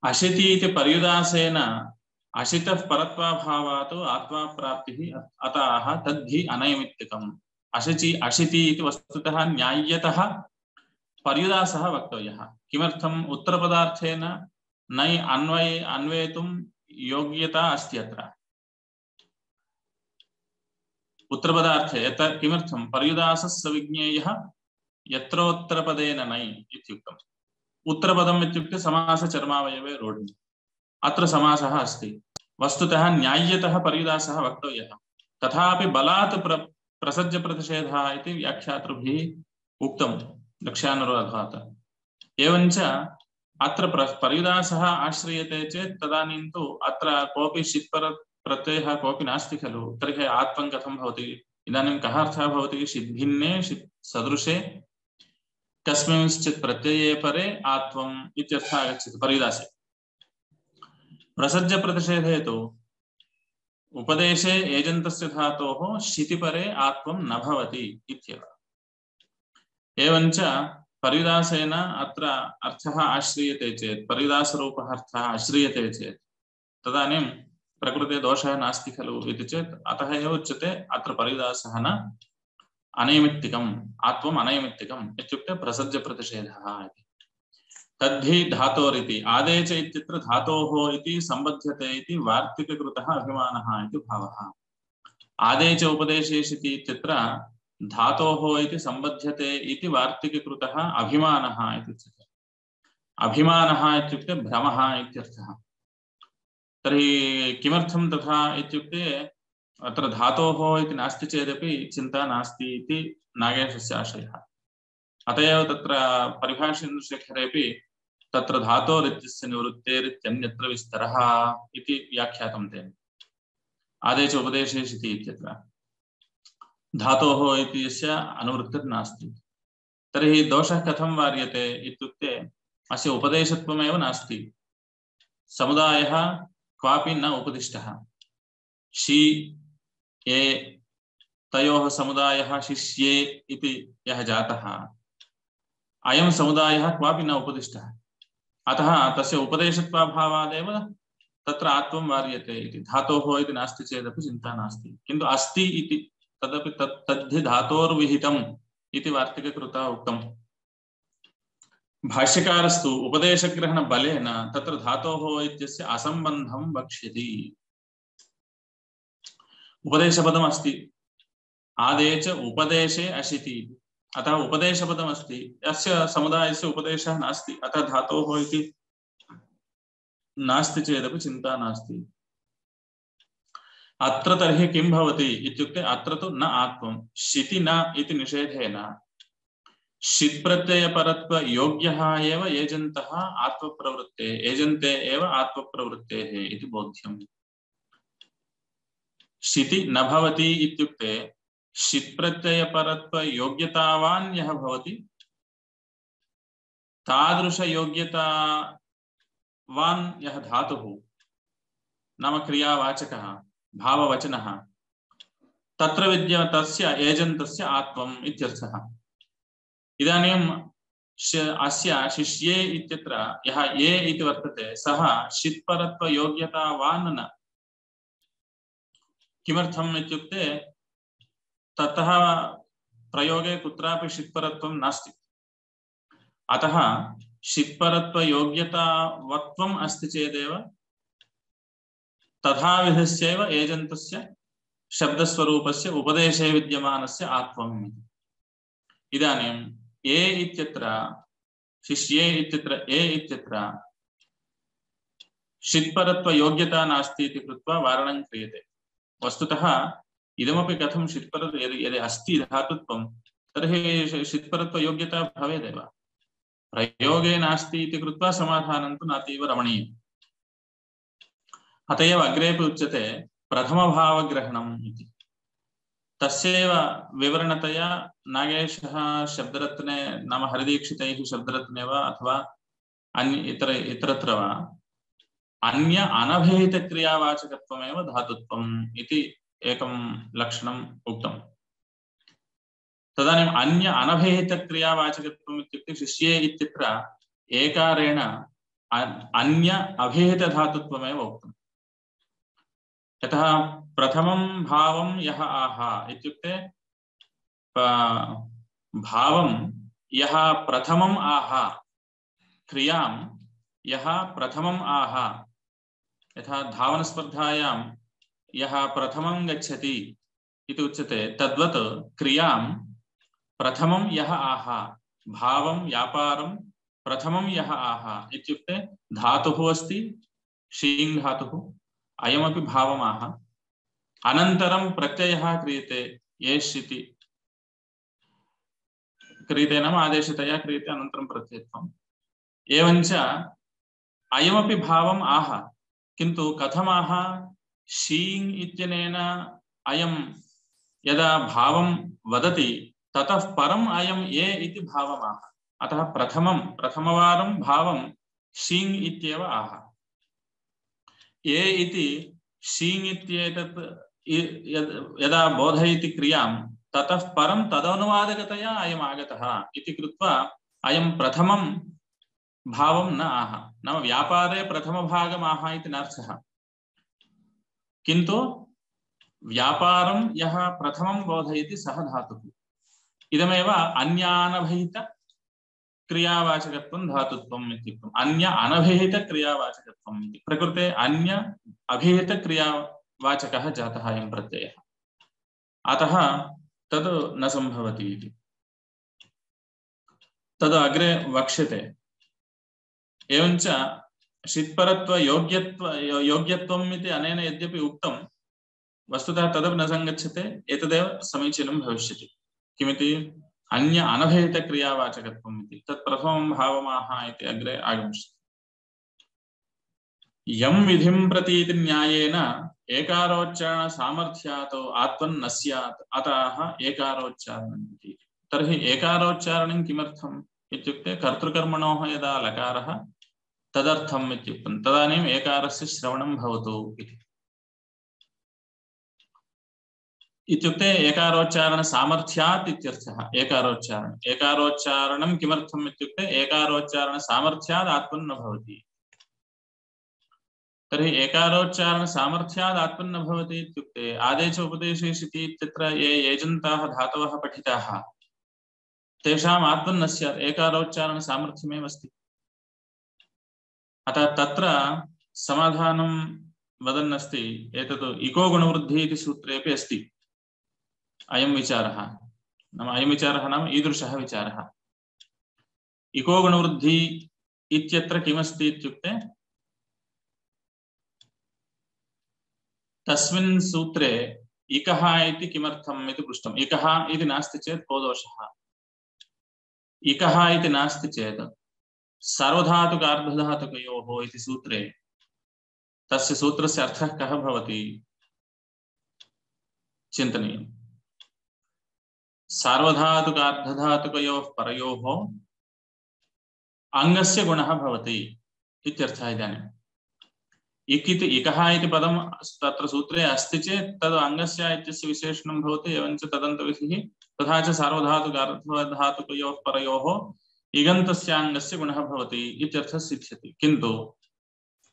अशिति इति पर्युदासेन अशितः परत्वाभावात् आत्मा प्राप्तिः अतः तद्धि अनैमित्तिकम्। अशिचि अशिति इति वस्तुतः न्याय्यतः पर्युदासः वक्तव्यः। किमर्थम्? उत्तरपदार्थेन नै अन्वये अन्वेतुं योग्यता अस्ति अत्र उत्तरपदार्थे। यत् किमर्थं? पर्युदासः सविज्ञेयः यत्रोत्तरपदेन नै इत्युक्तम्। उत्तरपदम् इत्युक्ते समासचर्मावयवे रोढि, अत्र समासः अस्ति। वस्तुतः न्याय्यतः पर्युदासः वक्तव्यः, तथापि बलात् प्र प्रसज्यप्रतिषेधः इति व्याख्यातृभिः उक्तं लक्ष्यानुरोधात्। एवञ्च अत्र पर्युदासः आश्रियते चेत् तदानीं तु अत्र कोऽपि षित्पर प्रत्ययः कोऽपि नास्ति खलु, तर्हि आत्मं कथं भवति? इदानीं कः अर्थः भवति? षिद्भिन्ने षित् सदृशे कस्मिंश्चित् प्रत्यये परे आत्वम् इत्यर्थः आगच्छति पर्युदासे। प्रसज्यप्रतिषेधे तु उपदेशे एजन्तस्य धातोः शितिपरे आत्वं न भवति इत्येव। एवञ्च पर्युदासेन अत्र अर्थः आश्रियते चेत्, पर्युदासरूपः अर्थः आश्रियते चेत् तदानीं प्रकृते दोषः नास्ति खलु इति चेत् अतः एव उच्यते अत्र पर्युदासः न अनैमित्तिकम्, आत्वम् अनैमित्तिकम् इत्युक्ते प्रसज्यप्रतिषेधः इति। तद्धि धातोरिति आदेश इत्यत्र धातोः इति सम्बध्यते इति वार्तिककृतः अभिमानः इति भावः। आदेश उपदेशेषिति इत्यत्र धातोः इति सम्बध्यते इति वार्तिककृतः अभिमानः इति उच्यते। अभिमानः इत्युक्ते भ्रमः इत्यर्थः। तर्हि किमर्थं तथा इत्युक्ते अत्र धातोः इति नास्ति चेदपि चिन्ता नास्ति इति नागेशस्य आशयः। अत एव तत्र परिभाषेन्द्रशेखरेपि तत्र धातोरित्यस्य निवृत्तेरित्यन्यत्र विस्तरः इति व्याख्यातं तेन। आदेश उपदेशेषिति इत्यत्र धातोः इति यस्य अनुवृत्तिर्नास्ति। तर्हि दोषः कथं वार्यते इत्युक्ते अस्य उपदेशत्वमेव नास्ति, समुदायः क्वापि न उपदिष्टः। शि ये तयोः समुदायः शिष्ये इति यः जातः, अयं समुदायः क्वापि न उपदिष्टः। अतः तस्य उपदेशत्वाभावादेव तत्र आत्वं वार्यते इति। धातोः इति नास्ति चेदपि चिन्ता नास्ति, किन्तु अस्ति इति तदपि तत् तद्धि धातोर्विहितम् इति वार्तिककृतः उक्तम्। भाष्यकारस्तु उपदेशग्रहणबलेन तत्र धातोः इत्यस्य असम्बन्धं वक्ष्यति। उपदेशपदम् अस्ति, आदेश उपदेशे अशिति, अतः उपदेशपदम् अस्ति, यस्य समुदायस्य उपदेशः नास्ति, अतः धातोः इति नास्ति चेदपि चिन्ता नास्ति। अत्र तर्हि किं भवति इत्युक्ते अत्र तु न आत्वं शिति न इति निषेधेन षित् प्रत्ययपरत्व योग्यः एव एजन्तः आत्मप्रवृत्ते एजन्ते एव आत्मप्रवृत्तेः इति बोध्यम्। शिति न भवति इत्युक्ते षित् प्रत्ययपरत्व योग्यतावान् यः भवति तादृश योग्यतावान् यः धातुः नाम क्रियावाचकः भाववचनः तत्र विद्य तस्य एजन्तस्य आत्वम् इत्यर्थः। इदानीं अस्य शिष्ये इत्यत्र यः ये इति वर्तते सः षित्परत्व योग्यतावान् न। किमर्थम् इत्युक्ते ततः प्रयोगे कुत्रापि षित्परत्वं नास्ति, अतः षित्परत्व योग्यतावत्वम् अस्ति चेदेव तथा विधस्यैव एजन्तस्य शब्दस्वरूपस्य उपदेशे विद्यमानस्य आत्वम्। इदानीं ए इत्यत्र शिष्ये इत्यत्र ए इत्यत्र षित्परत्व योग्यता नास्ति इति कृत्वा वारणं क्रियते। वस्तुतः इदमपि कथं षित्परत्व यदि यदि अस्ति धातुत्वं तर्हि षित्परत्व योग्यता भवेदेव। प्रयोगे नास्ति इति कृत्वा समाधानं तु नातीव रमणीयम्। अत एव अग्रेपि उच्यते प्रथमभावग्रहणम् इति। तस्यैव विवरणतया नागेशः शब्दरत्ने नाम हरिदीक्षितैः शब्दरत्ने वा अथवा अन्य इतर इतरत्र वा अन्य अनभिहितक्रियावाचकत्वमेव धातुत्वम् इति एकं लक्षणम् उक्तम्। तदानीम् अन्य अनभिहितक्रियावाचकत्वम् इत्युक्ते शिष्ये इत्यत्र एकारेण अन्य अभिहितधातुत्वमेव उक्तम्। यतः प्रथमं भावं यः आहा इत्युक्ते भावं यः प्रथमम् आहा क्रियां यः प्रथमम् आहा यथा धावनस्पर्धायां यः प्रथमं गच्छति इति उच्यते तद्वत् क्रियां प्रथमं यः आहा भावं व्यापारं प्रथमं यः आहा इत्युक्ते धातुः अस्ति शीङ् धातुः अयमपि भावमाह अनन्तरं प्रत्ययः क्रियते येष् इति क्रियते नाम आदेशतया क्रियते अनन्तरं प्रत्ययत्वम् एवञ्च अयमपि भावम् आह किन्तु कथमाह शीङ् इत्यनेन अयं यदा भावं वदति ततः परम् अयं ये इति भावमाह अतः प्रथमं प्रथमवारं भावं शीङ् इत्येव आह ये इति शीङ् इत्येतत् यदा बोधयति क्रियां ततः परं तदनुवादकतया अयम् आगतः इति कृत्वा अयं प्रथमं भावं न आह नाम व्यापारे प्रथमभागम् आह इति नार्थः किन्तु व्यापारं यः प्रथमं बोधयति सः धातुः इदमेव अन्यानभिहित क्रियावाचकत्वं धातुत्वम् इत्युक्तम् अन्य अनभिहित क्रियावाचकत्वम् इति प्रकृते अन्य अभिहित क्रियावाचकः जातः अयं प्रत्ययः अतः तद् न सम्भवति इति तद् अग्रे वक्ष्यते एवञ्च षित्परत्व योग्यत्व योग्यत्वम् इति अनेन यद्यपि उक्तं वस्तुतः तदपि न सङ्गच्छते एतदेव समीचीनं भविष्यति किमिति अन्य अनभिहित क्रियावाचकत्वम् इति तत् प्रथमं भावमाह इति अग्रे आगमिष्यति यं विधिं प्रतीति न्यायेन एकारोच्चारण सामर्थ्यात् आत्मन् न स्यात् अतः एकारोच्चारणम् इति तर्हि एकारोच्चारणं किमर्थम् इत्युक्ते कर्तृकर्मणोः यदा लकारः तदर्थम् इत्युक्तं तदानीम् एकारस्य श्रवणं भवतु इति इत्युक्ते एकारोच्चारण सामर्थ्यात् इत्यर्थः एकारोच्चारण एकारोच्चारणं किमर्थम् इत्युक्ते एकारोच्चारण सामर्थ्यात् आत्मन् न भवति तर्हि एकारोच्चारण सामर्थ्यात् आत्मन् न भवति इत्युक्ते आदेश उपदेशेषिति इत्यत्र ये एजन्ताः धातवः पठिताः तेषाम् आत्मन् न स्यात् एकारोच्चारण सामर्थ्यमेव अस्ति अतः तत्र समाधानं वदन्नस्ति एतत् इको गुणवृद्धिः इति सूत्रेपि अस्ति अयं विचारः नाम अयं विचारः नाम ईदृशः विचारः इको गुणवृद्धि इत्यत्र किमस्ति इत्युक्ते तस्मिन् सूत्रे इकः इति किमर्थम् इति पृष्टम् इकः इति नास्ति चेत् को दोषः इकः इति नास्ति चेत् सार्वधातुक अर्धधातुकयोः इति सूत्रे तस्य सूत्रस्य अर्थः कः भवति चिन्तनीयम् सार्वधातुक अर्धधातुकयोः परयोः अङ्गस्य गुणः भवति इत्यर्थः इदानीम् इक् इति इकः इति पदं तत्र सूत्रे अस्ति चेत् तद् अङ्गस्य इत्यस्य विशेषणं भवति एवञ्च तदन्तविधिः तथा च सार्वधातुक अर्धधातुकयोः परयोः इगन्तस्य अङ्गस्य गुणः भवति इत्यर्थः सिद्ध्यति किन्तु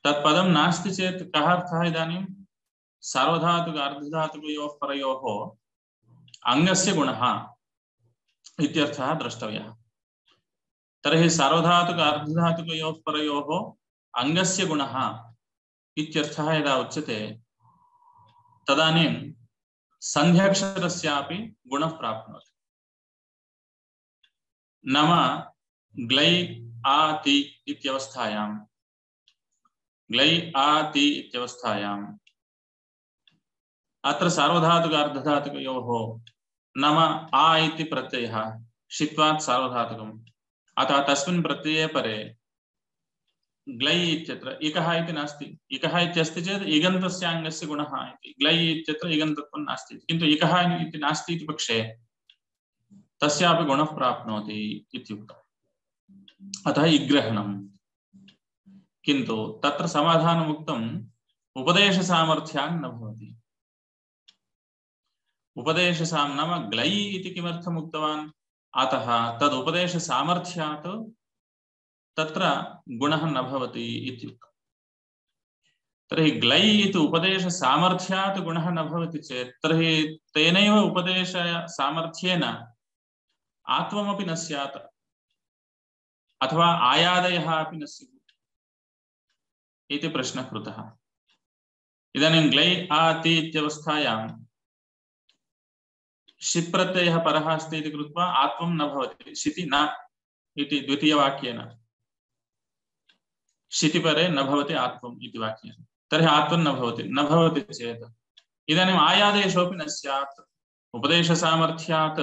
तत्पदं नास्ति चेत् कः अर्थः इदानीं सार्वधातुक अर्धधातुकयोः परयोः अङ्गस्य गुणः इत्यर्थः द्रष्टव्यः तर्हि सार्वधातुक अर्धधातुकयोः परयोः अङ्गस्य गुणः इत्यर्थः यदा उच्यते तदानीं सन्ध्यक्षरस्यापि गुणः प्राप्नोति नाम ग्लै आति इत्यवस्थायां ग्लै आति इत्यवस्थायाम् अत्र सार्वधातुक अर्धधातुकयोः नाम आ इति प्रत्ययः षित्वात् सार्वधातुकम् अतः तस्मिन् प्रत्यये परे ग्लै इत्यत्र इकः इति नास्ति इकः इत्यस्ति चेत् इगन्तस्य अङ्गस्य गुणः इति ग्लै इत्यत्र इगन्तत्वं नास्ति किन्तु इकः इति नास्ति इति पक्षे तस्यापि गुणः प्राप्नोति इत्युक्तम् अतः इग्रहणम् किन्तु तत्र समाधानम् उक्तम् उपदेशसामर्थ्यान् न भवति उपदेशसाम नाम ग्लै इति किमर्थम् उक्तवान् अतः तद् उपदेशसामर्थ्यात् तत्र गुणः न भवति इत्युक्तम् तर्हि ग्लै इति उपदेशसामर्थ्यात् गुणः न भवति चेत् तर्हि तेनैव उपदेशसामर्थ्येन आत्वमपि न स्यात् अथवा आयादयः अपि न स्युः इति प्रश्नः कृतः इदानीं ग्लै आति इत्यवस्थायां शित् प्रत्ययः परः अस्ति इति कृत्वा आत्वं न भवति शिति न इति द्वितीयवाक्येन शितिपरे न भवति आत्वम् इति वाक्येन तर्हि आत्वं न भवति न भवति चेत् इदानीम् आयादेशोऽपि न स्यात् उपदेशसामर्थ्यात्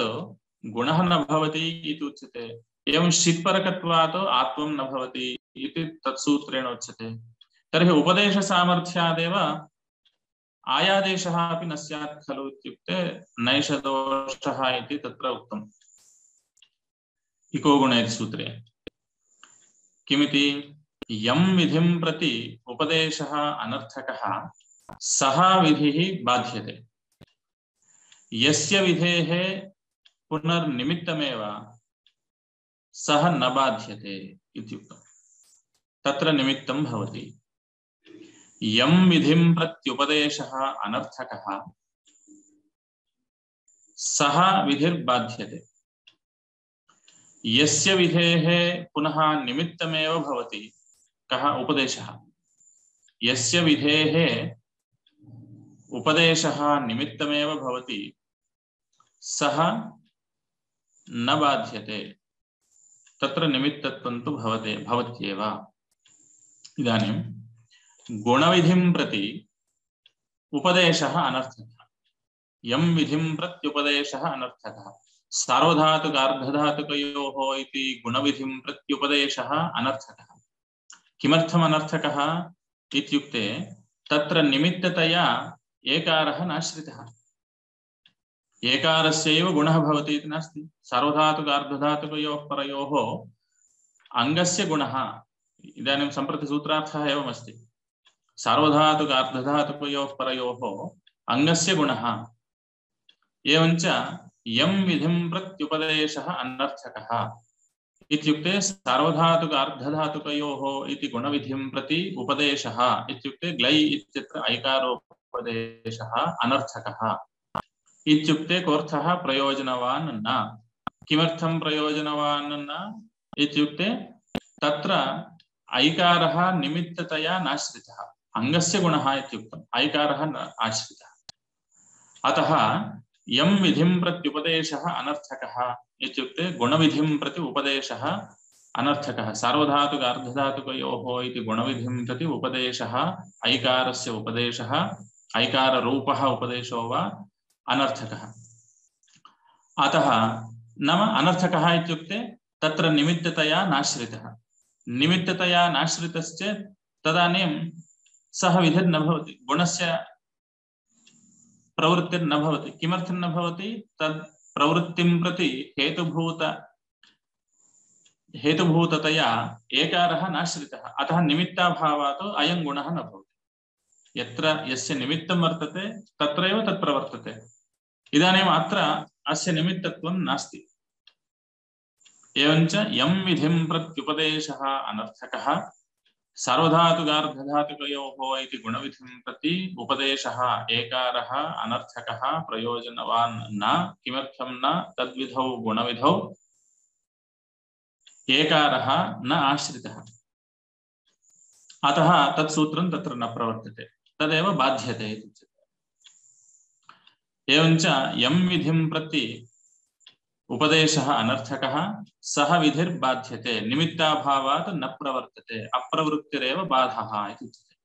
गुणः न भवति इति उच्यते एवं शित्परकत्वात् आत्वं न भवति इति तत्सूत्रेण उच्यते तर्हि उपदेशसामर्थ्यादेव आयादेशः अपि न स्यात् खलु इत्युक्ते नैषदोषः इति तत्र उक्तम् इको गुणे सूत्रे किमिति यं विधिं प्रति उपदेशः अनर्थकः सः विधिः बाध्यते यस्य विधेः पुनर्निमित्तमेव सः न बाध्यते इत्युक्तम् तत्र निमित्तं भवति यं विधिं प्रत्युपदेशः अनर्थकः सः विधिर्बाध्यते यस्य विधेः पुनः निमित्तमेव भवति कः उपदेशः यस्य विधेः उपदेशः निमित्तमेव भवति सः न बाध्यते तत्र निमित्तत्वं तु भवते भवत्येव इदानीं गुणविधिं प्रति उपदेशः अनर्थकः यं विधिं प्रत्युपदेशः अनर्थकः सार्वधातुकार्धधातुकयोः इति गुणविधिं प्रत्युपदेशः अनर्थकः किमर्थम् अनर्थकः इत्युक्ते तत्र निमित्ततया एकारः नाश्रितः एकारस्यैव गुणः भवति इति नास्ति सार्वधातुकार्धधातुकयोः परयोः अङ्गस्य गुणः इदानीं सम्प्रति सूत्रार्थः एवमस्ति सार्वधातुकार्धधातुकयोः परयोः अङ्गस्य गुणः एवञ्च यं विधिं प्रत्युपदेशः अनर्थकः इत्युक्ते सार्वधातुकार्धधातुकयोः इति गुणविधिं प्रति उपदेशः इत्युक्ते ग्लै इत्यत्र ऐकारोपदेशः अनर्थकः इत्युक्ते कोऽर्थः प्रयोजनवान् न किमर्थं प्रयोजनवान् न इत्युक्ते तत्र ऐकारः निमित्ततया नाश्रितः अङ्गस्य गुणः इत्युक्तम् ऐकारः न आश्रितः अतः यं विधिं प्रत्युपदेशः अनर्थकः इत्युक्ते गुणविधिं प्रति उपदेशः अनर्थकः सार्वधातुकार्धधातुकयोः इति गुणविधिं प्रति उपदेशः ऐकारस्य उपदेशः ऐकाररूपः उपदेशो वा अनर्थकः अतः नाम अनर्थकः इत्युक्ते तत्र निमित्ततया नाश्रितः निमित्ततया नाश्रितश्चेत् तदानीं सः विधिर्न भवति गुणस्य प्रवृत्तिर्न भवति किमर्थं न भवति तद् प्रवृत्तिं प्रति हेतुभूत हेतुभूततया एकारः नाश्रितः अतः निमित्ताभावात् अयं गुणः न भवति यत्र यस्य निमित्तं वर्तते तत्रैव तत् प्रवर्तते इदानीम् अत्र अस्य निमित्तत्वं नास्ति एवञ्च यं विधिं प्रत्युपदेशः अनर्थकः सार्वधातुकार्धधातुकयोः इति गुणविधिं प्रति उपदेशः एकारः अनर्थकः प्रयोजनवान् न किमर्थं न तद्विधौ गुणविधौ एकारः न आश्रितः अतः तत्सूत्रं तत्र न प्रवर्तते तदेव बाध्यते इति उच्यते एवञ्च यं विधिं प्रति उपदेशः अनर्थकः सः विधिर्बाध्यते निमित्ताभावात् न प्रवर्तते अप्रवृत्तिरेव बाधः इति उच्यते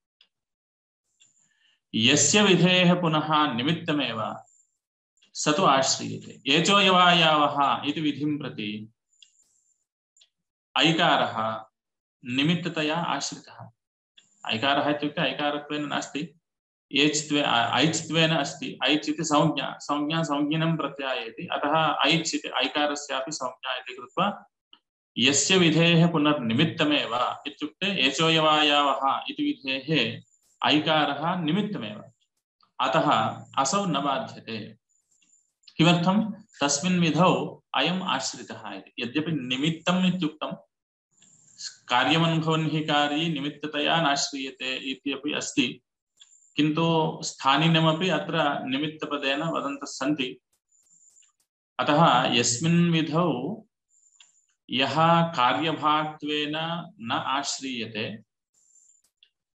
यस्य विधेः पुनः निमित्तमेव स तु आश्रियते एचो यवायावः इति विधिं प्रति ऐकारः निमित्ततया आश्रितः। ऐकारः इत्युक्ते ऐकारत्वेन नास्ति, एच्त्वे ऐच्त्वेन अस्ति। ऐच् इति संज्ञा, संज्ञा संज्ञिनं प्रत्यायति, अतः ऐच् इति ऐकारस्यापि संज्ञा इति कृत्वा यस्य विधेः पुनर्निमित्तमेव इत्युक्ते एचोयवायावः इति विधेः ऐकारः निमित्तमेव, अतः असौ न बाध्यते। किमर्थं? तस्मिन् विधौ अयम् आश्रितः इति। यद्यपि निमित्तम् इत्युक्तं कार्यमनुभवन् हि कार्ये निमित्ततया नाश्रीयते इति अपि अस्ति, किन्तु स्थानिनमपि अत्र निमित्तपदेन वदन्तः सन्ति। अतः यस्मिन् विधौ यः कार्यभाक्त्वेन न आश्रीयते,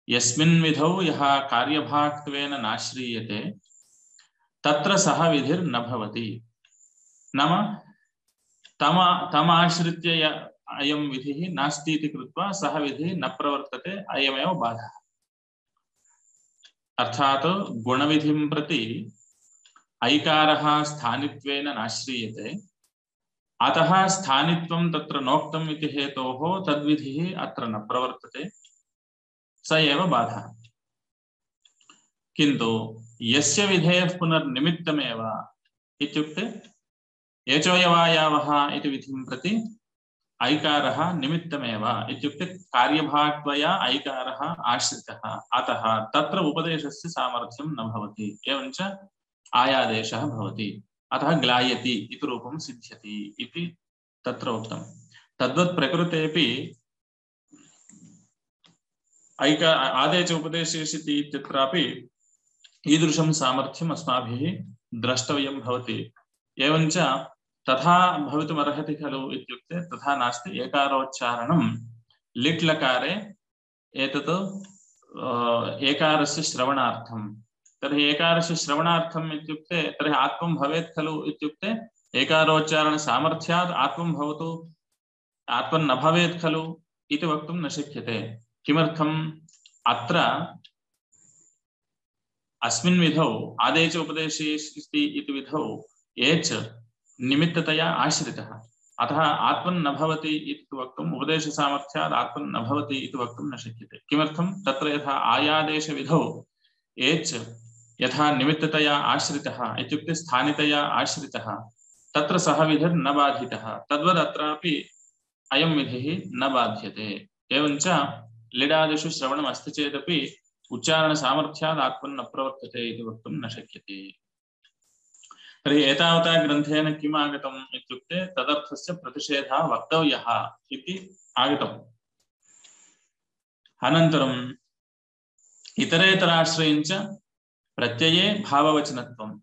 यस्मिन् विधौ यः कार्यभाक्त्वेन नाश्रीयते तत्र सह विधिर्न भवति। नाम तम तमाश्रित्य अयं विधिः नास्ति इति कृत्वा सह विधिः न प्रवर्तते, अयमेव बाधः। अर्थात् गुणविधिं प्रति ऐकारः स्थानित्वेन नाश्रीयते, अतः स्थानित्वं तत्र नोक्तम् इति हेतोः तद्विधिः अत्र न प्रवर्तते, स एव बाधः। किन्तु यस्य विधेयः पुनर्निमित्तमेव इत्युक्ते एचोयवायावः इति विधिं प्रति ऐकारः निमित्तमेव इत्युक्ते कार्यभाक्त्वया ऐकारः आश्रितः, अतः तत्र उपदेशस्य सामर्थ्यं न भवति, एवञ्च आयादेशः भवति, अतः ग्लायति इति रूपं सिद्ध्यति इति तत्र उक्तं। तद्वत् प्रकृतेपि ऐका आदेश उपदेशेषिति इत्यत्रापि ईदृशं सामर्थ्यम् अस्माभिः द्रष्टव्यं भवति। एवञ्च तथा भवितुमर्हति खलु इत्युक्ते तथा नास्ति। एकारोच्चारणं लिट् लकारे एतत् एकारस्य श्रवणार्थं, तर्हि एकारस्य श्रवणार्थम् इत्युक्ते तर्हि आत्मं भवेत् खलु इत्युक्ते एकारोच्चारणसामर्थ्यात् आत्मं भवतु, आत्मं न भवेत् खलु इति वक्तुं न शक्यते। किमर्थम्? अत्र अस्मिन् विधौ आदेश उपदेशेषि इति विधौ एच् निमित्ततया आश्रितः, अतः आत्मन् न भवति इति वक्तुम्, उपदेशसामर्थ्यात् आत्मन् न भवति इति वक्तुं न शक्यते। किमर्थं? तत्र यथा आयादेशविधौ एच् यथा निमित्ततया आश्रितः इत्युक्ते स्थानितया आश्रितः, तत्र सह विधिर्न बाधितः, तद्वद् अत्रापि अयं विधिः न बाध्यते। एवञ्च लिडादिषु श्रवणम् अस्ति चेदपि उच्चारणसामर्थ्यात् आत्मन् न प्रवर्तते इति वक्तुं न शक्यते। तर्हि एतावता ग्रन्थेन किम् आगतम् इत्युक्ते तदर्थस्य प्रतिषेधः वक्तव्यः इति आगतम्। अनन्तरम् इतरेतराश्रयञ्च प्रत्यये भाववचनत्वं,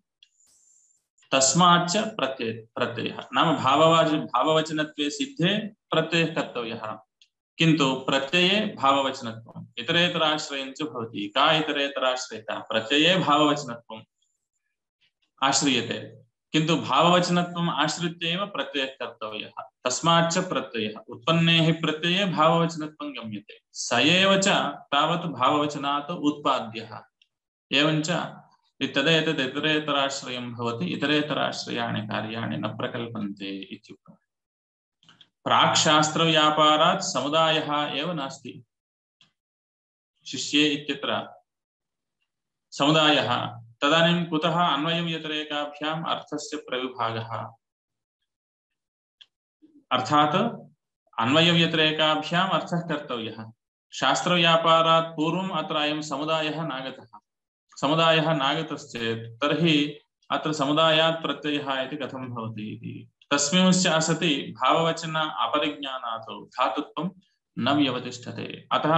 तस्माच्च प्रत्यय प्रत्ययः, नाम भाववाच भाववचनत्वे सिद्धे प्रत्ययः कर्तव्यः, किन्तु प्रत्यये भाववचनत्वम्। इतरेतराश्रयञ्च भवति। का इतरेतराश्रयता? प्रत्यये भाववचनत्वम् आश्रियते, किन्तु भाववचनत्वम् आश्रित्य एव प्रत्ययः कर्तव्यः, तस्माच्च प्रत्ययः। उत्पन्ने हि प्रत्यये भाववचनत्वं गम्यते, स एव च तावत् भाववचनात् उत्पाद्यः। एवञ्च तदेतद् इतरेतराश्रयं भवति, इतरेतराश्रयाणि कार्याणि न प्रकल्पन्ते इत्युक्तम्। प्राक्शास्त्रव्यापारात् समुदायः एव नास्ति। शिष्ये इत्यत्र समुदायः, तदानीं कुतः अन्वयव्यतिरेकाभ्याम् अर्थस्य प्रविभागः? अर्थात् अन्वयव्यतिरेकाभ्याम् अर्थः कर्तव्यः। शास्त्रव्यापारात् पूर्वम् अत्र अयं समुदायः नागतः। समुदायः नागतश्चेत् तर्हि अत्र समुदायात् प्रत्ययः इति कथं भवति इति। तस्मिंश्च असति भाववचन अपरिज्ञानात् धातुत्वं न व्यवतिष्ठते। अतः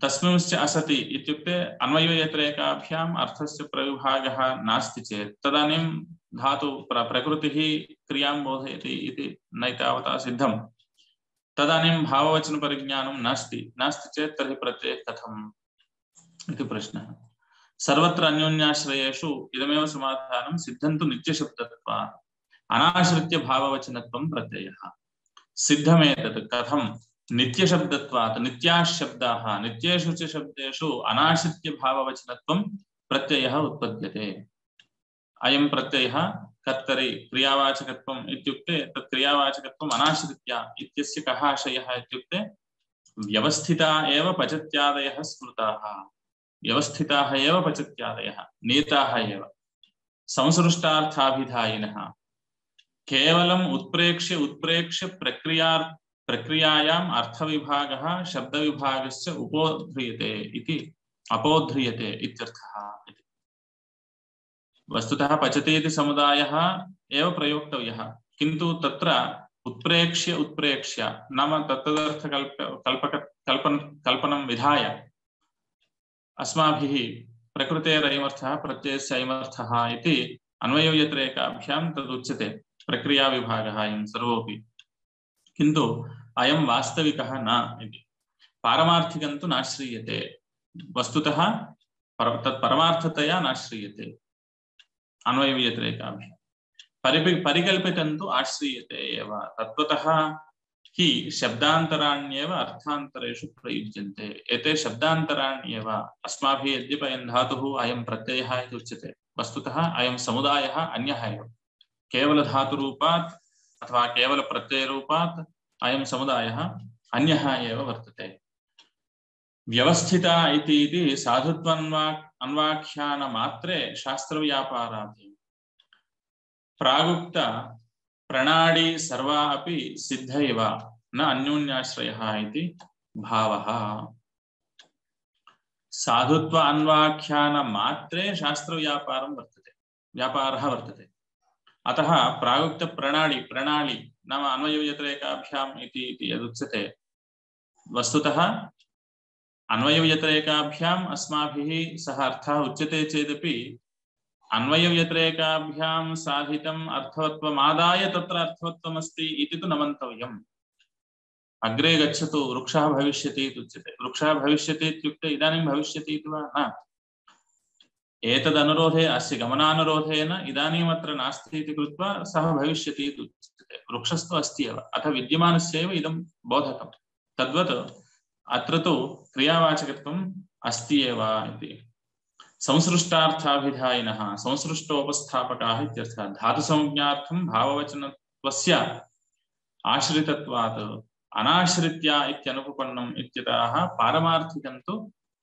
तस्मिंश्च असति इत्युक्ते अन्वयव्यतिरेकाभ्याम् अर्थस्य प्रविभागः नास्ति चेत् तदानीं धातु प्रकृतिः क्रियां बोधयति इति न तावता सिद्धम्। तदानीं भाववचनपरिज्ञानं नास्ति नास्ति चेत् तर्हि प्रत्ययः कथम् इति प्रश्नः। सर्वत्र अन्योन्याश्रयेषु इदमेव समाधानं। सिद्धन्तु नित्यशब्दत्वात् अनाश्रित्य भाववचनत्वं प्रत्ययः। सिद्धमेतत् कथं? नित्यशब्दत्वात्, नित्याः शब्दाः, नित्येषु च शब्देषु अनाश्रित्य भाववचनत्वं प्रत्ययः उत्पद्यते। अयं प्रत्ययः कर्तरि क्रियावाचकत्वम् इत्युक्ते तत् क्रियावाचकत्वम् अनाश्रित्य इत्यस्य कः आशयः इत्युक्ते व्यवस्थिता एव पचत्यादयः स्मृताः व्यवस्थिताः एव पचत्यादयः नीताः एव संसृष्टार्थाभिधायिनः केवलम् उत्प्रेक्ष्य उत्प्रेक्ष्य प्रक्रिया प्रक्रियायाम् अर्थविभागः शब्दविभागस्य उपोध्रियते इति अपोध्रियते इत्यर्थः। वस्तुतः पचति इति समुदायः एव प्रयोक्तव्यः किन्तु तत्र उत्प्रेक्ष्य उत्प्रेक्ष्य नाम तत्तदर्थकल्प कल्पक कल्पन कल्पनं विधाय अस्माभिः प्रकृतेरयमर्थः प्रत्ययस्य अयमर्थः इति अन्वयव्यतिरेकाभ्यां तदुच्यते प्रक्रियाविभागः अयं सर्वोऽपि किन्तु अयं वास्तविकः न इति पारमार्थिकं तु नाश्रीयते वस्तुतः तत् परमार्थतया नाश्रीयते अन्वयव्यतिरेकाभ्यां परिपि परिकल्पितं तु आश्रीयते एव तत्त्वतः हि शब्दान्तराण्येव अर्थान्तरेषु प्रयुज्यन्ते एते शब्दान्तराण्येव अस्माभिः यद्यपि अयं धातुः अयं प्रत्ययः इति उच्यते वस्तुतः अयं समुदायः अन्यः एव केवलधातुरूपात् अथवा केवलप्रत्ययरूपात् अयं समुदायः अन्यः एव वर्तते। व्यवस्थिता इति इति साधुत्वान्वा अन्वाख्यानमात्रे शास्त्रव्यापारात् प्रागुक्त प्रणाली सर्वा अपि सिद्ध एव न अन्योन्याश्रयः इति भावः। साधुत्व अन्वाख्यानमात्रे शास्त्रव्यापारं वर्तते व्यापारः वर्तते अतः प्रागुक्त प्रणाली प्रणाली नाम अन्वयव्यतिरेकाभ्याम् इति इति यदुच्यते वस्तुतः अन्वयव्यतिरेकाभ्याम् अस्माभिः सः अर्थः उच्यते चेदपि अन्वयव्यतिरेकाभ्यां साधितम् अर्थवत्वमादाय तत्र अर्थवत्वमस्ति इति तु न मन्तव्यम्। अग्रे गच्छतु वृक्षः भविष्यति इति उच्यते वृक्षः भविष्यति इत्युक्ते इदानीं भविष्यति इति वा न एतदनुरोधे अस्य गमनानुरोधेन इदानीमत्र नास्ति इति कृत्वा सः भविष्यति इति उच्यते वृक्षस्तु अस्ति एव अथ विद्यमानस्यैव इदं बोधकं तद्वत् अत्र तु क्रियावाचकत्वम् अस्ति एव इति। संसृष्टार्थाभिधायिनः संसृष्टोपस्थापकाः इत्यर्थः धातुसंज्ञार्थं भाववचनत्वस्य आश्रितत्वात् अनाश्रित्या इत्यनुपपन्नम् इत्यतः पारमार्थिकं तु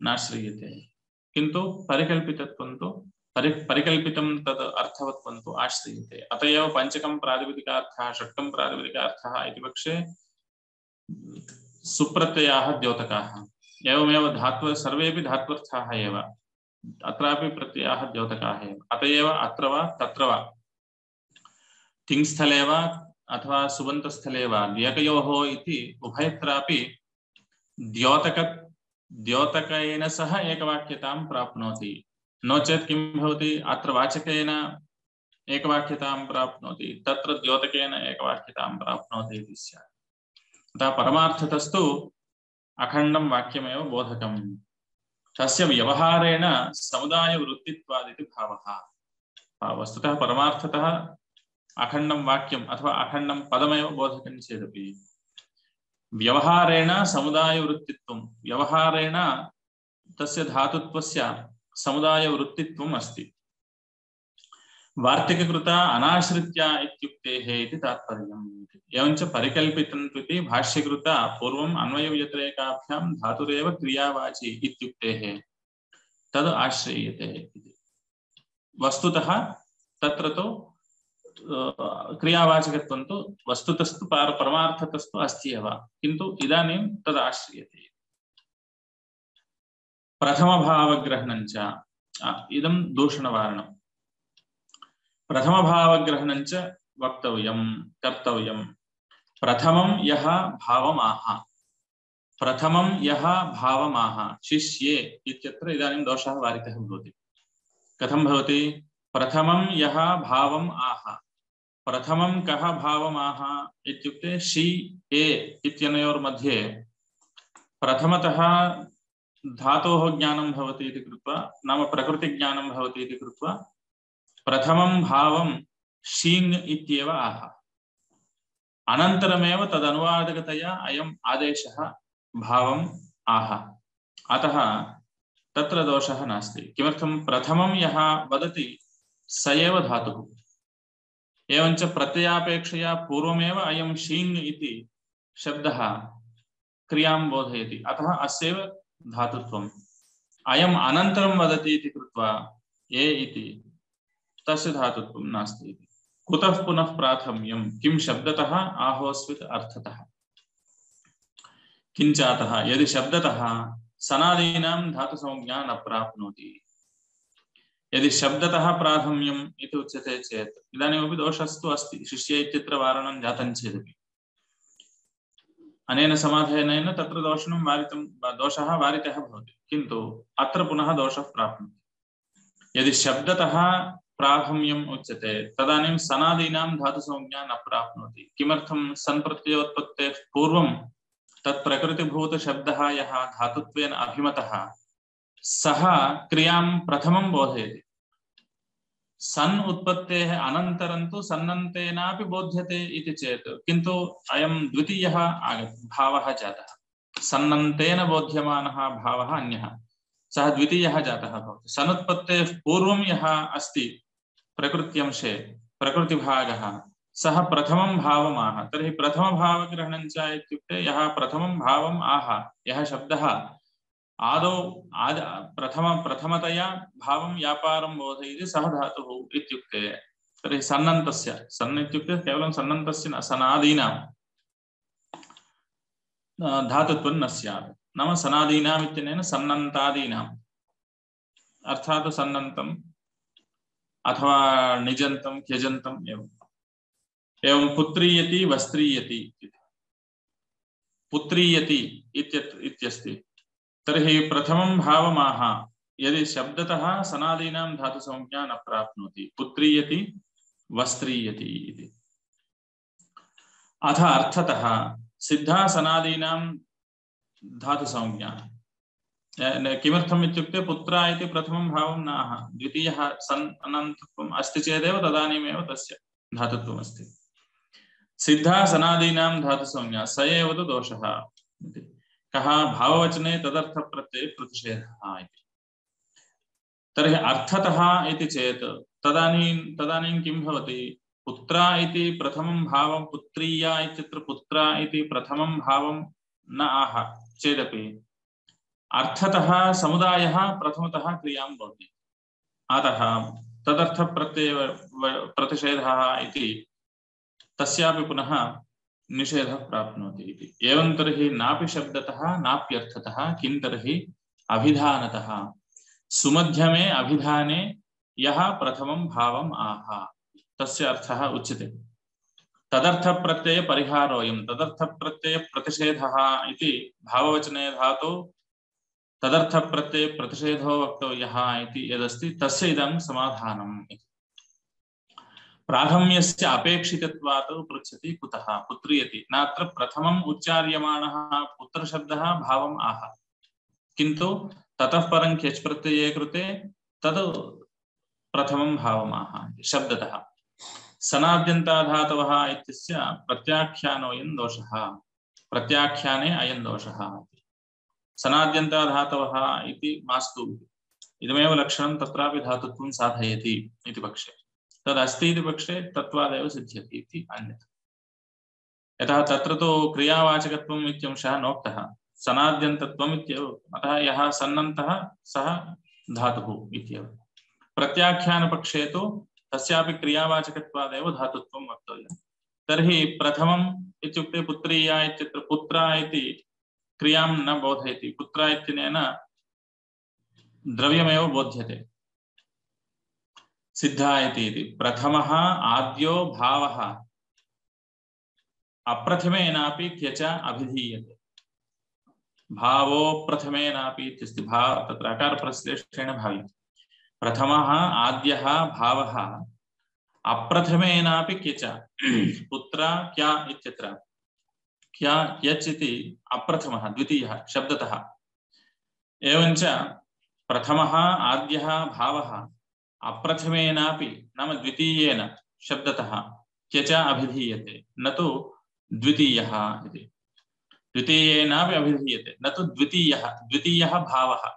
नाश्रीयते किन्तु परिकल्पितत्वं तु परि परिकल्पितं तद् अर्थवत्वं तु आश्रीयते। अत एव पञ्चकं प्रातिपदिकार्थः षट्कं प्रातिपदिकार्थः इति पक्षे सुप्रत्ययाः द्योतकाः एवमेव धात्व सर्वेपि धात्वर्थाः एव अत्रापि प्रत्ययाः द्योतकाः एव अत एव अत्र वा तत्र वा तिङ्स्थले वा अथवा सुबन्तस्थले वा द्यकयोः इति उभयत्रापि द्योतक द्योतकेन सह एकवाक्यतां प्राप्नोति नो चेत् किं भवति अत्र वाचकेन एकवाक्यतां प्राप्नोति तत्र द्योतकेन एकवाक्यतां प्राप्नोति इति स्यात्। अतः परमार्थतस्तु अखण्डं वाक्यमेव बोधकम् तस्य व्यवहारेण समुदायवृत्तित्वादिति भावः। वस्तुतः परमार्थतः अखण्डं वाक्यम् अथवा अखण्डं पदमेव बोधकं चेदपि व्यवहारेण समुदायवृत्तित्वं व्यवहारेण तस्य धातुत्वस्य समुदायवृत्तित्वम् अस्ति। वार्तिककृता अनाश्रित्या इत्युक्तेः इति तात्पर्यम्। एवञ्च परिकल्पितं इति भाष्यकृता पूर्वम् अन्वयव्यतिरेकाभ्यां धातुरेव क्रियावाची इत्युक्तेः तद् आश्रय्यते इति। वस्तुतः तत्र तु क्रियावाचकत्वं तु वस्तुतस्तु परमार्थतस्तु अस्ति एव किन्तु इदानीं तद् आश्रयते। प्रथमभावग्रहणं च इदं दूषणवारणं प्रथमभावग्रहणं च वक्तव्यं कर्तव्यं। प्रथमं यः भावमाह प्रथमं यः भावमाह शिष्ये इत्यत्र इदानीं दोषः वारितः भवति। कथं भवति? प्रथमं यः भावम् आह प्रथमं कः भावमाह इत्युक्ते शि ए इत्यनयोर्मध्ये प्रथमतः धातोः ज्ञानं भवति इति कृत्वा नाम प्रकृतिज्ञानं भवति इति कृत्वा प्रथमं भावं शीङ् इत्येव आह अनन्तरमेव तदनुवादकतया अयम् आदेशः भावम् आह अतः तत्र दोषः नास्ति। किमर्थं? प्रथमं यः वदति स एव धातुः एवञ्च प्रत्ययापेक्षया पूर्वमेव अयं शीङ् इति शब्दः क्रियां बोधयति अतः अस्यैव धातुत्वम् अयम् अनन्तरं वदति इति कृत्वा ए इति तस्य धातुत्वं नास्ति इति कुतः पुनः प्राथम्यं किं शब्दतः आहोस्वित् अर्थतः किञ्चातः यदि शब्दतः सनादीनां धातुसंज्ञा न प्राप्नोति यदि शब्दतः प्राथम्यम् इति उच्यते चेत् इदानीमपि दोषस्तु अस्ति शिष्य इत्यत्र वारणं जातं चेदपि अनेन समाधानेन तत्र दोषणं वारितं दोषः वारितः भवति किन्तु अत्र पुनः दोषः प्राप्नोति यदि शब्दतः प्राथम्यम् उच्यते तदानीं सनादीनां धातुसंज्ञा न प्राप्नोति किमर्थं सन् प्रत्ययोत्पत्तेः पूर्वं तत् प्रकृतिभूतशब्दः यः धातुत्वेन अभिमतः सः क्रियां प्रथमं बोधयति सन् उत्पत्तेः अनन्तरं तु सन्नन्तेनापि बोध्यते इति चेत् किन्तु अयं द्वितीयः आगतः भावः जातः सन्नन्तेन बोध्यमानः भावः अन्यः सः द्वितीयः जातः भवति सनुत्पत्तेः पूर्वं यः अस्ति प्रकृत्यंशे प्रकृतिभागः सः प्रथमं भावमाह तर्हि प्रथमभावग्रहणं च इत्युक्ते यः प्रथमं भावम् आह यः शब्दः आदौ आद प्रथम प्रथमतया भावं व्यापारं बोधयति सः धातुः इत्युक्ते तर्हि सन्नन्तस्य सन् इत्युक्ते केवलं सन्नन्तस्य न सनादीनां धातुत्वं न स्यात् नाम सनादीनाम् इत्यनेन सन्नन्तादीनाम् अर्थात् सन्नन्तम् अथवा निजन्तं त्यजन्तम् एवम् एवं पुत्रीयति वस्त्रीयति पुत्रीयति इत्यस्ति तर्हि प्रथमं भावमाह यदि शब्दतः सनादीनां धातुसंज्ञा न प्राप्नोति पुत्रीयति वस्त्रीयति इति अथ अर्थतः सिद्धा सनादीनां धातुसंज्ञा किमर्थम् इत्युक्ते पुत्रा इति प्रथमं भावं न आह द्वितीयः सन् अनन्तत्वम् अस्ति चेदेव तदानीमेव तस्य धातुत्वम् अस्ति सिद्धा सनादीनां धातुसंज्ञा स एव तु दोषः इति कः भाववचने तदर्थ प्रत्यय प्रतिषेधः इति तर्हि अर्थतः इति चेत् तदानीं तदानीं किं भवति पुत्रा इति प्रथमं भावं पुत्रीया इत्यत्र पुत्रा इति प्रथमं भावं न आह चेदपि अर्थतः समुदायः प्रथमतः क्रियां भवति अतः तदर्थ प्रत्यय प्रतिषेधः इति तस्यापि पुनः निषेधः प्राप्नोति इति एवं तर्हि नापि शब्दतः नाप्यर्थतः किं तर्हि अभिधानतः सुमध्यमे अभिधाने यः प्रथमं भावम् आह तस्य अर्थः उच्यते तदर्थ प्रत्यय परिहारोऽयं तदर्थ प्रत्यय प्रतिषेधः इति भाववचने धातौ तदर्थ प्रत्यय प्रतिषेधो वक्तव्यः इति यदस्ति तस्य इदं समाधानम् इति प्राथम्यस्य अपेक्षितत्वात् पृच्छति कुतः पुत्रीयति नात्र प्रथमम् उच्चार्यमाणः पुत्रशब्दः भावम् आह किन्तु ततः परं क्यच् प्रत्यये कृते तद् प्रथमं भावम् आह शब्दतः सनाद्यन्ताधातवः इत्यस्य प्रत्याख्यानोऽयं दोषः प्रत्याख्याने अयं दोषः सनाद्यन्ताधातवः इति मास्तु इदमेव लक्षणं तत्रापि धातुत्वं साधयति इति पक्षे तदस्ति इति पक्षे तत्त्वादेव सिद्ध्यति इति अन्यथा यतः तत्र तु क्रियावाचकत्वम् इत्यंशः नोक्तः सनाद्यन्तत्वम् इत्येव अतः यः सन्नन्तः सः धातुः इत्येव प्रत्याख्यानपक्षे तु तस्यापि क्रियावाचकत्वादेव धातुत्वं वक्तव्यं तर्हि प्रथमम् इत्युक्ते पुत्रीया इत्यत्र पुत्रा इति क्रियां न बोधयति पुत्रा इत्यनेन द्रव्यमेव बोध्यते सिद्धा इति प्रथमः आद्यो भावः अप्रथमेनापि क्यच अभिधीयते भावो प्रथमेनापि इत्यस्ति भाव तत्र अकारप्रश्लेषेण भाव्यते प्रथमः आद्यः भावः अप्रथमेनापि क्यच पुत्र क्या इत्यत्र क्या क्यच् इति अप्रथमः द्वितीयः शब्दतः एवञ्च प्रथमः आद्यः भावः अप्रथमेनापि नाम द्वितीयेन शब्दतः क्यच अभिधीयते न तु द्वितीयः इति द्वितीयेनापि अभिधीयते न तु द्वितीयः द्वितीयः भावः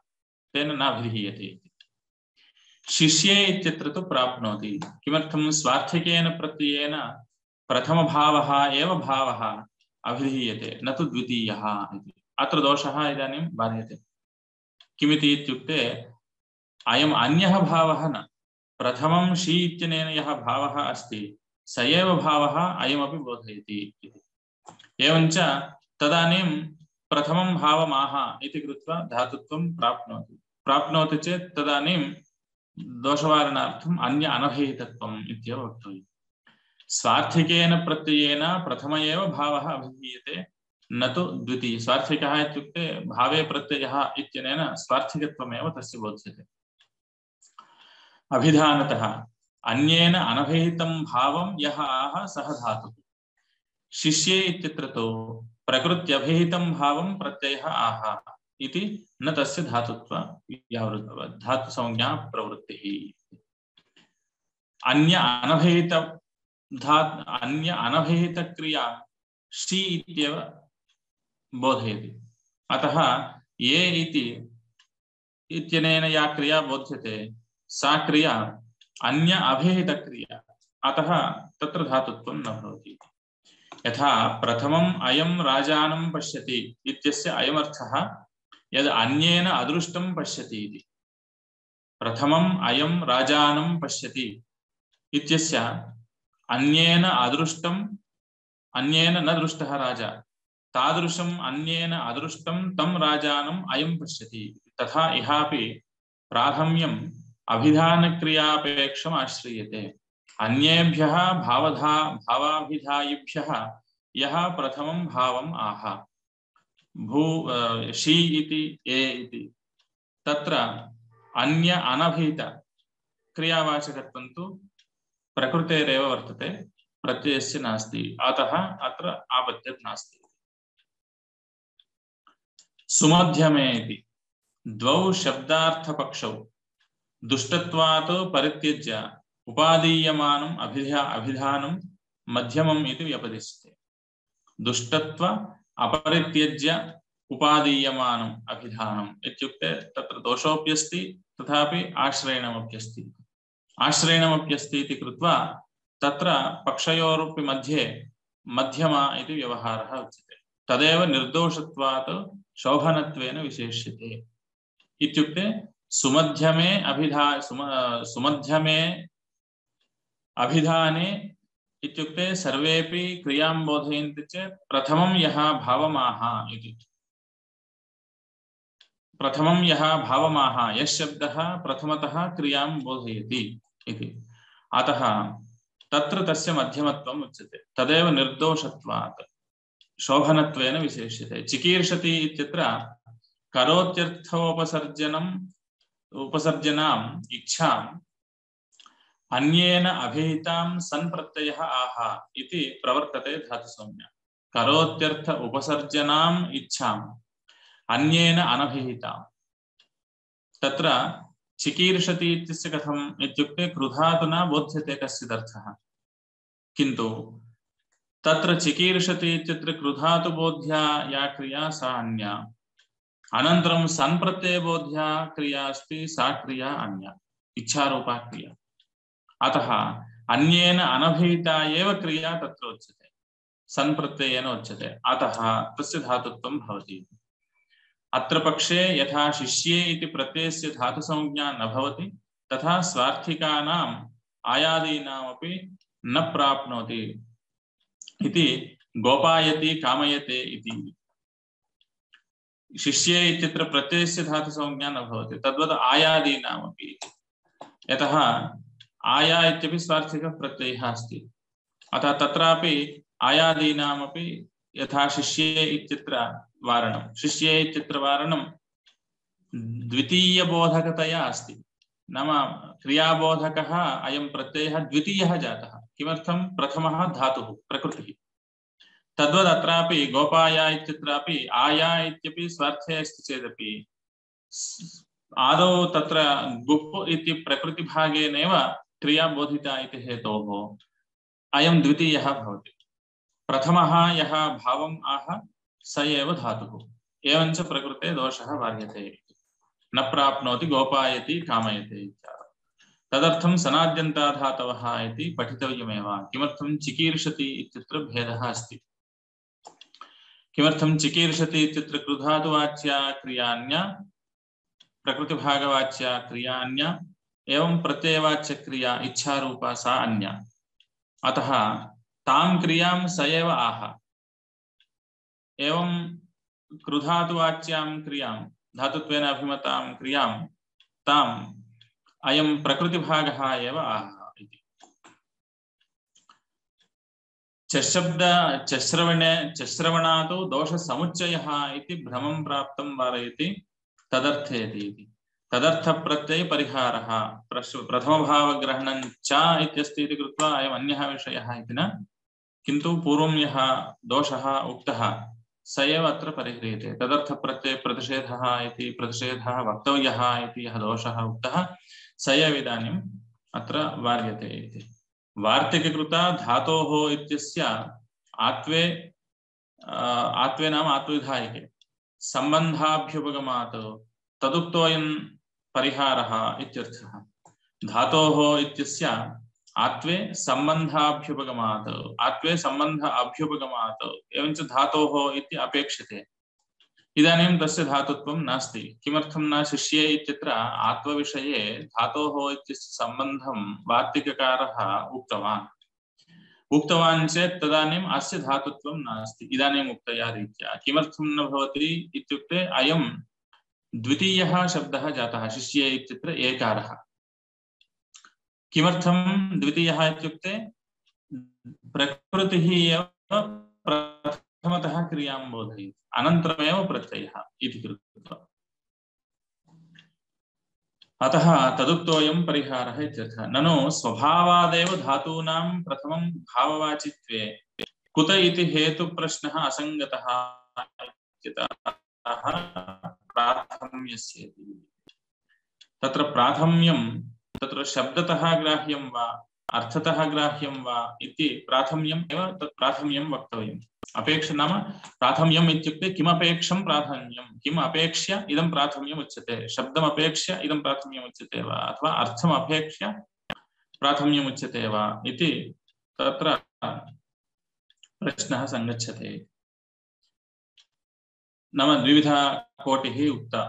तेन न अभिधीयते इति शिष्ये इत्यत्र तु प्राप्नोति किमर्थं स्वार्थकेन प्रत्ययेन प्रथमभावः एव भावः अभिधीयते न तु द्वितीयः इति अत्र दोषः इदानीं बाध्यते। किमिति इत्युक्ते अयम् अन्यः भावः न, प्रथमं शी इत्यनेन यः भावः अस्ति स एव भावः अयमपि बोधयति इति। एवञ्च तदानीं प्रथमं भावमाह इति कृत्वा धातुत्वं प्राप्नोति। प्राप्नोति चेत् तदानीं दोषवारणार्थम् अन्य अनभिहितत्वम् इत्येव वक्तव्यम्। स्वार्थिकेन प्रत्ययेन प्रथम एव भावः अभिधीयते, न तु द्वितीय। स्वार्थिकः इत्युक्ते भावे प्रत्ययः इत्यनेन स्वार्थिकत्वमेव तस्य बोध्यते। अभिधानतः अन्येन अनभिहितं भावं यः आह सः धातुः। शिष्ये इत्यत्र तु प्रकृत्यभिहितं भावं प्रत्ययः आह इति न तस्य धातुत्व धातुसंज्ञा प्रवृत्तिः। अन्य अनभिहित धात् अन्य अनभिहित क्रिया शी इत्येव बोधयति। अतः ये इति इत्यनेन या क्रिया बोध्यते सा क्रिया अन्य अभिहित क्रिया, अतः तत्र धातुत्वं न भवति। यथा प्रथमम् अयं राजानं पश्यति इत्यस्य अयमर्थः यद् अन्येन अदृष्टं पश्यति इति। प्रथमम् अयं राजानं पश्यति इत्यस्य अन्येन अदृष्टं, अन्येन न दृष्टः राजा, तादृशम् अन्येन अदृष्टं तं राजानम् अयं पश्यति। तथा इहापि प्राथम्यम् अभिधानक्रियापेक्षम् आश्रयते। अन्येभ्यः भावधा भावाभिधायिभ्यः यः प्रथमं भावम् आह भू शी इति ए इति, तत्र अन्य अनभिहित क्रियावाचकत्वं तु प्रकृतेरेव वर्तते, प्रत्ययस्य नास्ति। अतः अत्र आपत्तिः नास्ति। सुमध्यमे इति द्वौ शब्दार्थपक्षौ दुष्टत्वात् परित्यज्य उपादीयमानम् अभिधा अभिधानं मध्यमम् इति व्यपदिश्यते। दुष्टत्व अपरित्यज्य उपादीयमानम् अभिधानम् इत्युक्ते तत्र दोषोऽप्यस्ति तथापि आश्रयणमप्यस्ति। आश्रयणमप्यस्ति इति कृत्वा तत्र पक्षयोरपि मध्ये मध्यमा इति व्यवहारः उच्यते। तदेव निर्दोषत्वात् शोभनत्वेन विशेष्यते। इत्युक्ते सुमध्यमे अभिधा सुम सुमध्यमे अभिधाने इत्युक्ते सर्वेपि क्रियां बोधयन्ति चेत् प्रथमं यः भावमाह इति, प्रथमं यः भावमाह यः शब्दः प्रथमतः क्रियां बोधयति इति। अतः तत्र तस्य मध्यमत्वम् उच्यते। तदेव निर्दोषत्वात् शोभनत्वेन विशेष्यते। चिकीर्षति इत्यत्र करोत्यर्थोपसर्जनम् उपसर्जनाम् इच्छाम् अन्येन अभिहितां सन् प्रत्ययः आह इति प्रवर्तते धातुसंज्ञा। करोत्यर्थ उपसर्जनाम् इच्छाम् अन्येन अनभिहितां, तत्र चिकीर्षति इत्यस्य कथम् इत्युक्ते कृधातुना बोध्यते कश्चिदर्थः, किन्तु तत्र चिकीर्षति इत्यत्र कृधातुबोध्या या क्रिया सा अन्या, अनन्तरं सन् प्रत्ययबोध्या क्रिया अस्ति सा क्रिया अन्या, इच्छारूपा क्रिया। अतः अन्येन अनभिहिता एव क्रिया तत्र उच्यते, सन् प्रत्ययेन उच्यते। अतः तस्य धातुत्वं भवति। अत्र पक्षे यथा शिष्ये इति प्रत्ययस्य धातुसंज्ञा न भवति तथा स्वार्थिकानाम् आयादीनामपि न प्राप्नोति इति गोपायति कामयते इति। शिष्ये इत्यत्र प्रत्ययस्य धातुसंज्ञा न भवति, तद्वत् आयादीनामपि। यतः आया इत्यपि स्वार्थिकः प्रत्ययः अस्ति, अतः तत्रापि आयादीनामपि यथा शिष्ये इत्यत्र वारणं, शिष्ये इत्यत्र वारणं द्वितीयबोधकतया अस्ति। नाम क्रियाबोधकः अयं प्रत्ययः द्वितीयः जातः। किमर्थं? प्रथमः धातुः प्रकृतिः। तद्वद् अत्रापि गोपाया इत्यत्रापि आया इत्यपि स्वार्थे अस्ति चेदपि आदौ तत्र गुप् इति प्रकृतिभागेनैव क्रिया बोधिता इति हेतोः अयं द्वितीयः भवति। प्रथमः यः भावम् आह स एव धातुः। एवञ्च प्रकृते दोषः वार्यते, न प्राप्नोति गोपायति कामयते इत्यादि। तदर्थं सनाद्यन्ताधातवः इति पठितव्यमेव। किमर्थं? चिकीर्षति इत्यत्र भेदः अस्ति। किमर्थं चिकीर्षति इत्यत्र कृधातुवाच्या क्रियान्या प्रकृतिभागवाच्या क्रियान्या एवं प्रत्ययवाच्य क्रिया इच्छारूपा सा अन्या। अतः तां क्रियां स एव आह। एवं कृधातुवाच्यां क्रियां धातुत्वेन अभिमतां क्रियां ताम् अयं प्रकृतिभागः एव आह इति। चशब्द चश्रवणे चश्रवणातो दोषसमुच्चयः इति भ्रमं प्राप्तं वारयति तदर्थेति इति। तदर्थप्रत्ययपरिहारः प्रथमभावग्रहणं च इत्यस्ति इति कृत्वा अयम् अन्यः विषयः इति न, किन्तु पूर्वं यः दोषः उक्तः स एव अत्र परिह्रियते। तदर्थप्रत्ययप्रतिषेधः इति प्रतिषेधः वक्तव्यः इति यः दोषः उक्तः स एव इदानीम् अत्र वार्यते इति। वार्तिककृता धातोः इत्यस्य आत्वे आत्वे नाम आत्वविधायके सम्बन्धाभ्युपगमात् तदुक्तोऽयं परिहारः इत्यर्थः। धातोः इत्यस्य आत्वे सम्बन्धाभ्युपगमात् आत्वे सम्बन्ध अभ्युपगमात् एवञ्च धातोः इति अपेक्षते। इदानीं तस्य धातुत्वं नास्ति। किमर्थं न शिष्ये इत्यत्र आत्वविषये धातोः इत्यस्य सम्बन्धं वार्तिककारः उक्तवान् उक्तवान् चेत् तदानीम् अस्य धातुत्वं नास्ति इदानीम् उक्तया रीत्या। किमर्थं न भवति इत्युक्ते अयं द्वितीयः शब्दः जातः शिष्ये इत्यत्र एकारः। किमर्थं द्वितीयः इत्युक्ते प्रकृतिः एव प्रथमतः क्रियां बोधयति अनन्तरमेव प्रत्ययः इति कृत्वा। अतः तदुक्तोऽयं परिहारः इत्यर्थः। ननु स्वभावादेव धातूनां प्रथमं भाववाचित्वे कुत इति हेतुप्रश्नः असङ्गतः इत्यतः प्राथम्यस्येति। तत्र प्राथम्यं तत्र शब्दतः ग्राह्यं वा अर्थतः ग्राह्यं वा इति प्राथम्यम् एव तत् प्राथम्यं वक्तव्यम्। अपेक्ष नाम प्राथम्यम् इत्युक्ते किमपेक्षं प्राथम्यं, किम् अपेक्ष्य इदं प्राथम्यम् उच्यते, शब्दम् अपेक्ष्य इदं प्राथम्यम् उच्यते वा अथवा अर्थम् अपेक्ष्य प्राथम्यम् उच्यते वा इति तत्र प्रश्नः सङ्गच्छते। नाम द्विविधा कोटिः उक्ता।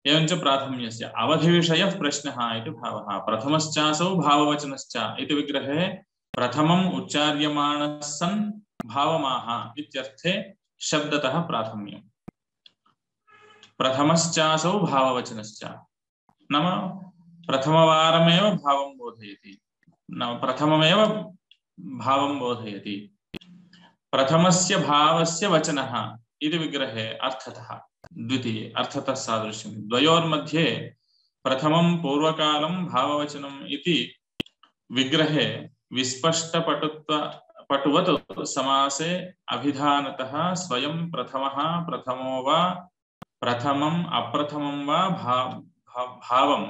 एवञ्च प्राथम्यस्य अवधिविषयः प्रश्नः इति भावः। प्रथमश्चासौ भाववचनश्च इति विग्रहे प्रथमम् उच्चार्यमाणः सन् भावमाह इत्यर्थे शब्दतः प्राथम्यम्। प्रथमश्चासौ भाववचनश्च नाम प्रथमवारमेव भावं बोधयति, नाम प्रथममेव भावं बोधयति। प्रथमस्य भावस्य वचनः इति विग्रहे अर्थतः द्वितीये अर्थतः सादृश्यं द्वयोर्मध्ये प्रथमं पूर्वकालं भाववचनम् इति विग्रहे विस्पष्टपटुत्व पटुवत् समासे अभिधानतः स्वयं प्रथमः प्रथमो वा प्रथमम् अप्रथमं वा भाव भावम्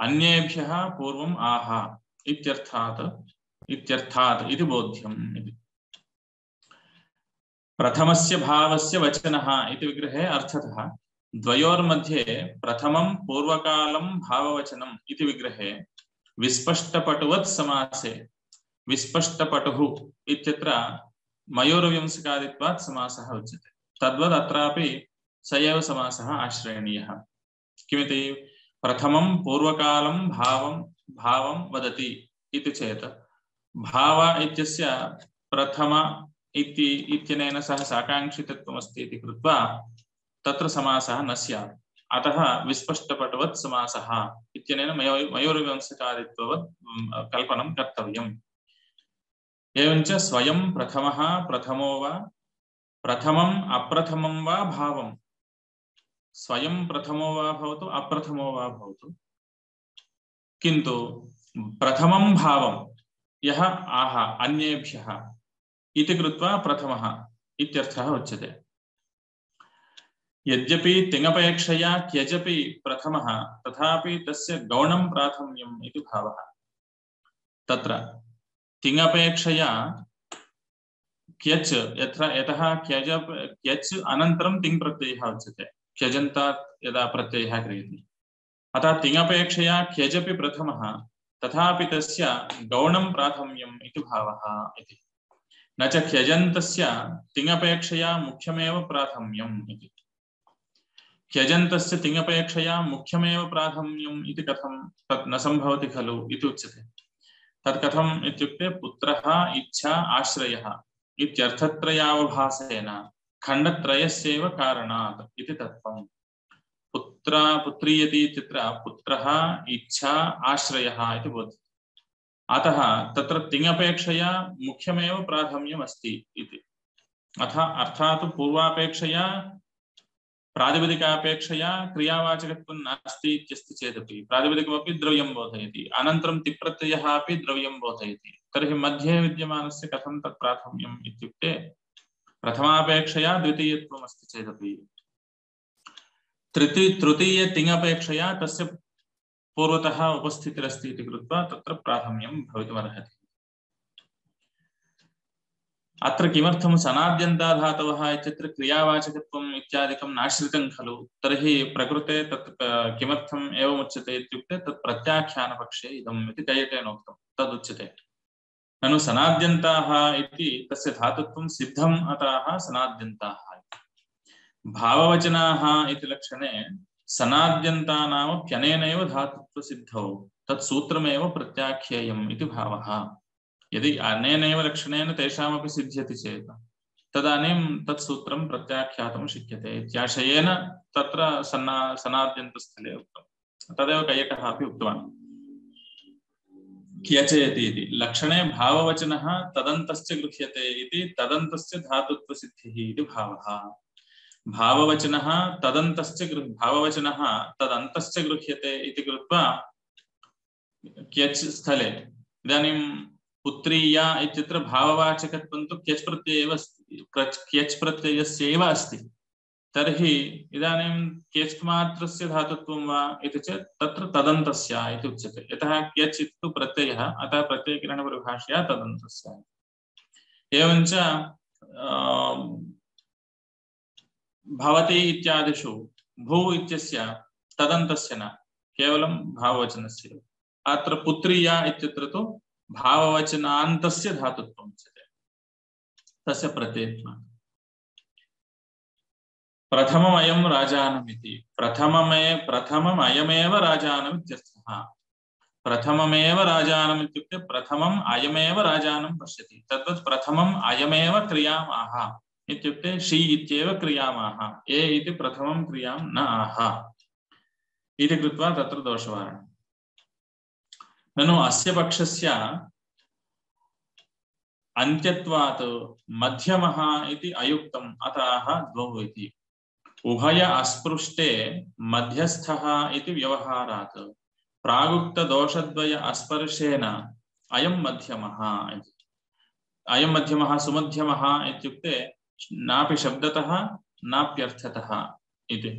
अन्येभ्यः पूर्वम् आह इत्यर्थात् इत्यर्थात् इति बोध्यम् इति। प्रथमस्य भावस्य वचनः इति विग्रहे अर्थतः द्वयोर्मध्ये प्रथमं पूर्वकालं भाववचनम् इति विग्रहे विस्पष्टपटुवत् समासे विस्पष्टपटुः इत्यत्र मयूरव्यंसकादित्वात् समासः उच्यते। तद्वद् अत्रापि स एव समासः आश्रयणीयः। किमिति प्रथमं पूर्वकालं भावं भावं वदति इति चेत् भाव इत्यस्य प्रथम इति इत्यनेन सह साकाङ्क्षितत्वमस्ति इति कृत्वा तत्र समासः न स्यात्। अतः विस्पष्टपटुवत् समासः इत्यनेन मयूरव्यंसकादित्ववत् कल्पनं कर्तव्यम्। एवञ्च स्वयं प्रथमः प्रथमो वा प्रथमम् अप्रथमं वा भावं स्वयं प्रथमो वा भवतु अप्रथमो वा भवतु, किन्तु प्रथमं भावं यः आह अन्येभ्यः इति कृत्वा प्रथमः इत्यर्थः उच्यते। यद्यपि तिङपेक्षया क्यजपि प्रथमः तथापि तस्य गौणं प्राथम्यम् इति भावः। तत्र तिङपेक्षया क्यच यत्र यतः क्यज क्यच अनन्तरं तिङ् प्रत्ययः उच्यते क्यजन्तात् यदा प्रत्ययः क्रियते। अतः तिङपेक्षया क्यजपि प्रथमः तथापि तस्य गौणं प्राथम्यम् इति भावः इति। न च ह्यजन्तस्य तिङपेक्षया मुख्यमेव प्राथम्यम् इति। ह्यजन्तस्य तिङपेक्षया मुख्यमेव प्राथम्यम् इति कथं तत् न सम्भवति खलु इति उच्यते। तत् कथम् इत्युक्ते पुत्रः इच्छा आश्रयः इत्यर्थत्रयावभासेन खण्डत्रयस्यैव कारणात् इति तत्त्वम्। पुत्र पुत्रीयति इत्यत्र पुत्रः इच्छा आश्रयः इति भवति। अतः तत्र तिङपेक्षया मुख्यमेव प्राथम्यम् अस्ति इति। अथ अर्थात् पूर्वापेक्षया प्रातिपदिकापेक्षया क्रियावाचकत्वं नास्ति इत्यस्ति चेदपि प्रातिपदिकमपि द्रव्यं बोधयति, अनन्तरं तिप्रत्ययः अपि द्रव्यं बोधयति। तर्हि मध्ये विद्यमानस्य कथं तत् प्राथम्यम् इत्युक्ते प्रथमापेक्षया द्वितीयत्वम् अस्ति चेदपि तृतीय तृतीय तिङपेक्षया तस्य पूर्वतः उपस्थितिरस्ति इति कृत्वा तत्र प्राथम्यं भवितुमर्हति। अत्र किमर्थं सनाद्यन्ताधातवः इत्यत्र क्रियावाचकत्वम् इत्यादिकं नाश्रितं खलु, तर्हि प्रकृते तत् किमर्थम् एवमुच्यते इत्युक्ते तत् प्रत्याख्यानपक्षे इदम् इति कैयटेन उक्तं तदुच्यते। ननु सनाद्यन्ताः इति तस्य धातुत्वं सिद्धम् अतः सनाद्यन्ताः। भाववचनाः इति लक्षणे सनाद्यन्तानामप्यनेनैव धातुत्वसिद्धौ तत् सूत्रमेव प्रत्याख्येयम् इति भावः। यदि अनेनैव लक्षणेन तेषामपि सिद्ध्यति चेत् तदानीं तत् सूत्रं प्रत्याख्यातुं शक्यते इत्याशयेन तत्र सन्ना सनाद्यन्तस्थले उक्तं। तदेव कैयटः अपि उक्तवान्। क्यचेति इति लक्षणे भाववचनः तदन्तस्य गृह्यते इति तदन्तस्य धातुत्वसिद्धिः इति भावः। भाववचनः तदन्तस्य भाववचनः तदन्तस्य गृह्यते इति कृत्वा क्यच् स्थले इदानीं पुत्रीया इत्यत्र भाववाचकत्वं तु क्यच् प्रत्ययेव अस्ति, क्यच् प्रत्ययस्यैव अस्ति। तर्हि इदानीं क्यच् मात्रस्य धातुत्वं वा इति चेत् तत्र तदन्तस्य इति उच्यते। यतः क्यच् इति प्रत्ययः, अतः प्रत्ययकिरणपरिभाषया तदन्तस्य। एवञ्च भवति इत्यादिषु भू इत्यस्य तदन्तस्य न, केवलं भाववचनस्य। अत्र पुत्रीया इत्यत्र तु भाववचनान्तस्य धातुत्वम् उच्यते तस्य प्रत्ययत्वात्। प्रथममयं राजानमिति प्रथममे प्रथममयमेव राजानम् इत्यर्थः। प्रथममेव राजानम् इत्युक्ते प्रथमम् अयमेव राजानं पश्यति। तद्वत् प्रथमम् अयमेव क्रियाम् आह इत्युक्ते शी इत्येव क्रियामाह, ए इति प्रथमं क्रियां न आह इति कृत्वा तत्र दोषवारणम्। ननु अस्य पक्षस्य अन्त्यत्वात् मध्यमः इति अयुक्तम् अतः द्वौ इति। उभय अस्पृष्टे मध्यस्थः इति व्यवहारात् प्रागुक्तदोषद्वय अस्पर्शेन अयं मध्यमः इति। अयं मध्यमः सुमध्यमः इत्युक्ते नापि शब्दतः नाप्यर्थतः इति,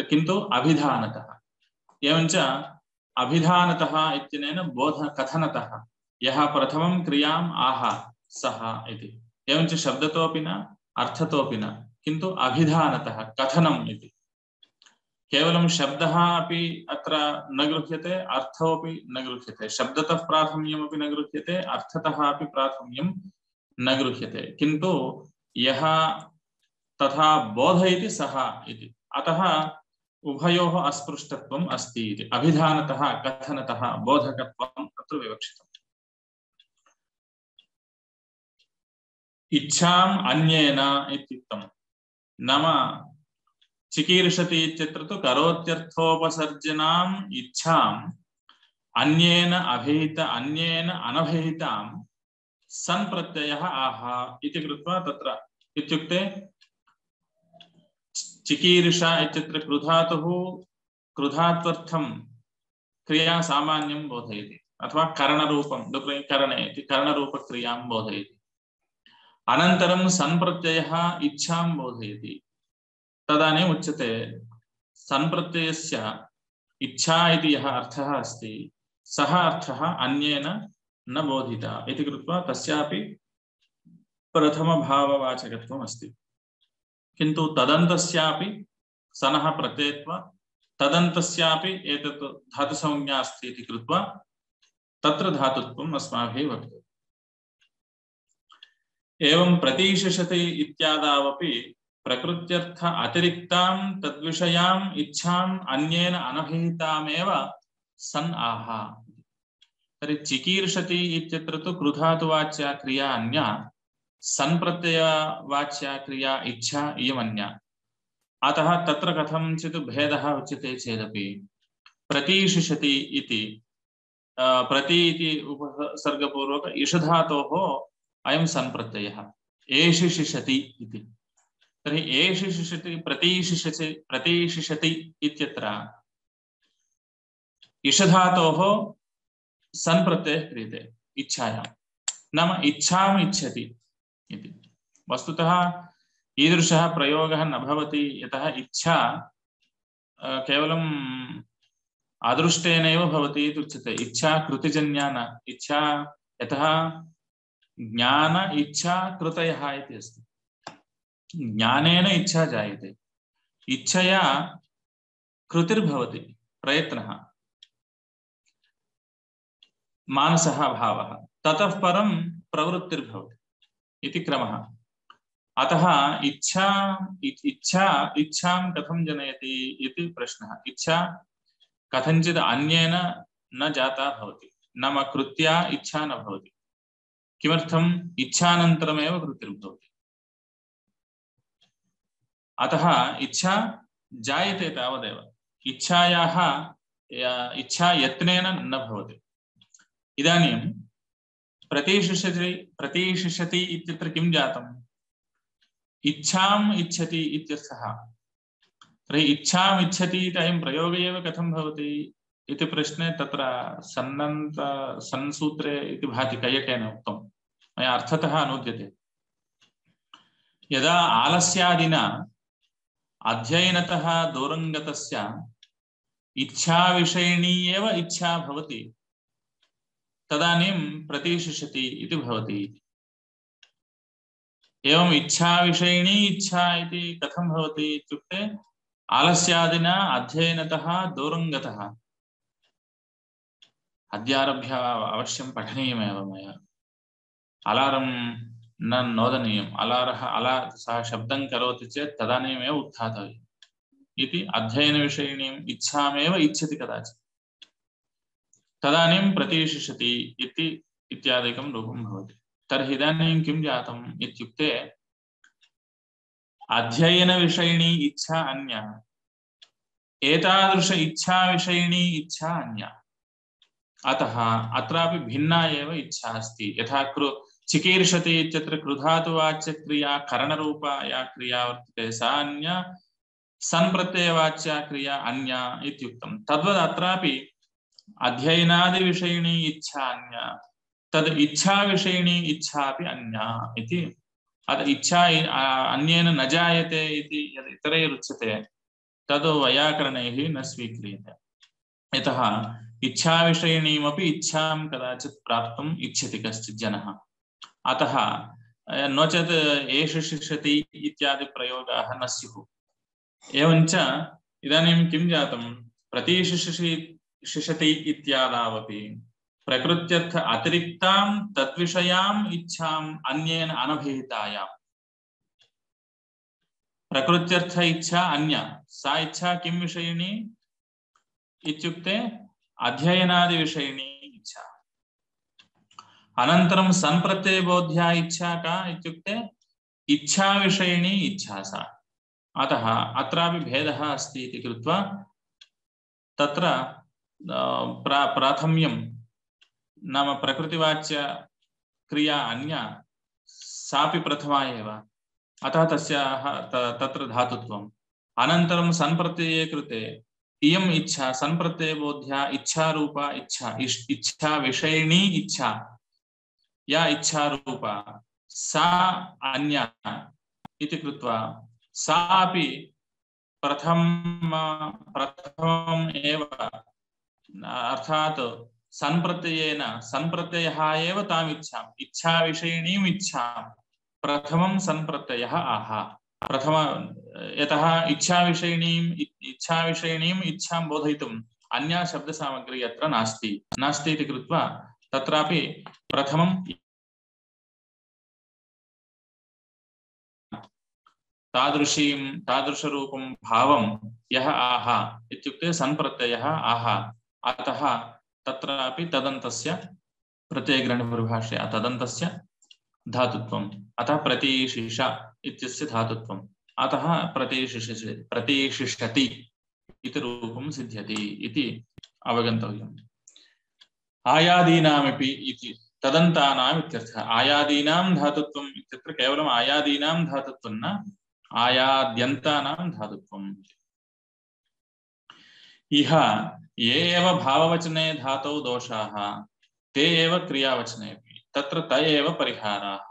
किन्तु अभिधानतः। एवञ्च अभिधानतः इत्यनेन बोध कथनतः यः प्रथमं क्रियाम् आह सः इति। एवञ्च शब्दतोऽपि न अर्थतोऽपि न, किन्तु अभिधानतः कथनम् इति। केवलं शब्दः अपि अत्र न गृह्यते, अर्थोऽपि न गृह्यते। शब्दतः प्राथम्यमपि न गृह्यते, अर्थतः अपि प्राथम्यं न गृह्यते, किन्तु यः तथा बोधयति सः इति। अतः उभयोः अस्पृष्टत्वम् अस्ति इति। अभिधानतः कथनतः बोधकत्वम् अत्र विवक्षितम्। इच्छाम् अन्येन इत्युक्तम्। नाम चिकीर्षति इत्यत्र तु करोत्यर्थोपसर्जनाम् इच्छाम् अन्येन अभिहित अन्येन अनभिहितां सन् प्रत्ययः आह इति कृत्वा तत्र इत्युक्ते चिकीर्षा इत्यत्र कृधातुः कृधात्वर्थं क्रिया सामान्यं बोधयति अथवा करणरूपं करणे इति करणरूपक्रियां बोधयति। अनन्तरं सन् प्रत्ययः इच्छां बोधयति। तदानीम् उच्यते सन् प्रत्ययस्य इच्छा इति यः अर्थः अस्ति सः अर्थः अन्येन न बोधिता इति कृत्वा तस्यापि प्रथमभाववाचकत्वम् अस्ति। किन्तु तदन्तस्यापि सनः प्रत्ययत्वा तदन्तस्यापि एतत् धातुसंज्ञा अस्ति इति कृत्वा तत्र धातुत्वम् अस्माभिः वक्तव्यम्। एवं प्रतीशिषति इत्यादावपि प्रकृत्यर्थ अतिरिक्तां तद्विषयाम् इच्छाम् अन्येन अनभिहितामेव सन् आह। तर्हि चिकीर्षति इत्यत्र तु कृधातुवाच्या क्रिया अन्या, सन् प्रत्ययवाच्या क्रिया इच्छा इयमन्या। अतः तत्र कथंचित् भेदः उच्यते चेदपि प्रतीशिषति इति प्रति इति उपसर्गपूर्वक इषधातोः अयं सन् प्रत्ययः एषिषिषति इति। तर्हि एषिषिषति प्रतीशिषति प्रतीशिषति इत्यत्र इषधातोः सन् प्रत्ययः क्रियते इच्छायां, नाम इच्छाम् इच्छति इति। वस्तुतः ईदृशः प्रयोगः न भवति, यतः इच्छा केवलम् अदृष्टेनैव भवति इति उच्यते। इच्छा कृतिजन्या न। इच्छा यतः ज्ञान इच्छा कृतयः इति अस्ति। ज्ञानेन इच्छा जायते, इच्छया कृतिर्भवति, प्रयत्नः, मानसः भावः, ततः परं प्रवृत्तिर्भवति इति क्रमः। अतः इच्छा इच्छा इच्छां कथं जनयति इति प्रश्नः। इच्छा कथंचित् अन्येन न जाता भवति, नाम कृत्या इच्छा न भवति। किमर्थम्? इच्छानन्तरमेव कृतिर्भवति। अतः इच्छा जायते तावदेव, इच्छायाः इच्छा यत्नेन न भवति। इदानीं प्रतीशिषति प्रतीशिषति इत्यत्र किं जातम्? इच्छाम् इच्छति इत्यर्थः। तर्हि इच्छाम् इच्छति इति अयं प्रयोगः एव कथं भवति इति प्रश्ने तत्र सन्नन्त संसूत्रे इति भाति, कैयकेन उक्तं। मया अर्थतः अनुद्यते। यदा आलस्यादिना अध्ययनतः दूरङ्गतस्य इच्छाविषयिणी एव इच्छा भवति, तदानीं प्रतीशिषति इति भवति। एवं इच्छाविषयिणी इच्छा इति कथं भवति इत्युक्ते आलस्यादिना अध्ययनतः दूरङ्गतः। अद्यारभ्य अवश्यं पठनीयमेव मया। अलारं न नोदनीयम्। अलारः अला सः शब्दं करोति चेत् तदानीमेव उत्थातव्यम् इति अध्ययनविषयिणीम् इच्छामेव इच्छति कदाचित्, तदानीं प्रतीशिषति इति इत्यादिकं रूपं भवति। तर्हि इदानीं किं जातम् इत्युक्ते अध्ययनविषयिणी इच्छा अन्या, एतादृश इच्छाविषयिणी इच्छा अन्या। अतः अत्रापि भिन्ना एव इच्छा अस्ति। यथा कृ चिकीर्षति इत्यत्र कृधातुवाच्यक्रिया करणरूपा या क्रिया वर्तते सा अन्या, सन्प्रत्ययवाच्या क्रिया अन्या इत्युक्तं। तद्वत् अत्रापि अध्ययनादिविषयिणी इच्छा अन्या, तद् इच्छाविषयिणी इच्छापि अन्या इति। अतः इच्छा अन्येन न जायते इति यद् इतरैरुच्यते तद् वैयाकरणैः न स्वीक्रियते। यतः इच्छाविषयिणीमपि इच्छां कदाचित् प्राप्तुम् इच्छति कश्चित् जनः। अतः नो चेत् एषिषति इत्यादि प्रयोगाः न स्युः। एवञ्च इदानीं किं जातं? प्रतीशिषति शिषति इत्यादावपि प्रकृत्यर्थ अतिरिक्तां तद्विषयाम् इच्छाम् अन्येन अनभिहितायाम्। प्रकृत्यर्थ इच्छा अन्या, सा इच्छा किं विषयिणी इत्युक्ते अध्ययनादिविषयिणी इच्छा। अनन्तरं सन्प्रत्ययबोध्या इच्छा का इत्युक्ते इच्छाविषयिणी इच्छा सा। अतः अत्रापि भेदः अस्ति इति कृत्वा तत्र प्रा प्राथम्यं नाम प्रकृतिवाच्य क्रिया अन्या, सापि प्रथमा एव। अतः तस्याः तत्र धातुत्वम्। अनन्तरं सन्प्रत्यये कृते इयम् इच्छा सन्प्रत्ययबोध्या इच्छारूपा इच्छा, इच्छा विषयिणी इच्छा या इच्छारूपा सा अन्या इति कृत्वा सा अपि प्रथम प्रथमम् एव, अर्थात् सन्प्रत्ययेन सन्प्रत्ययः एव ताम् इच्छाम् इच्छाविषयिणीम् इच्छां प्रथमं सन्प्रत्ययः आह। प्रथम यतः इच्छाविषयिणीम् इच्छाविषयिणीम् इच्छां बोधयितुम् अन्या शब्दसामग्री अत्र नास्ति नास्ति इति कृत्वा तत्रापि प्रथमं तादृशीं तादृशरूपं भावं यः आह इत्युक्ते सन्प्रत्ययः आह अतः तत्रापि तदन्तस्य प्रत्ययग्रहणपरिभाषया तदन्तस्य धातुत्वम् अतः प्रतीशिष इत्यस्य धातुत्वम् अतः प्रतीशिषति प्रतीशिषति इति रूपं सिद्ध्यति इति अवगन्तव्यम्। आयादीनामपि इति तदन्तानाम् इत्यर्थः। आयादीनां धातुत्वम् इत्यत्र केवलम् आयादीनां धातुत्वं न आयाद्यन्तानां धातुत्वम्। इह ये एव भाववचने धातौ दोषाः ते एव क्रियावचनेऽपि तत्र त एव परिहाराः।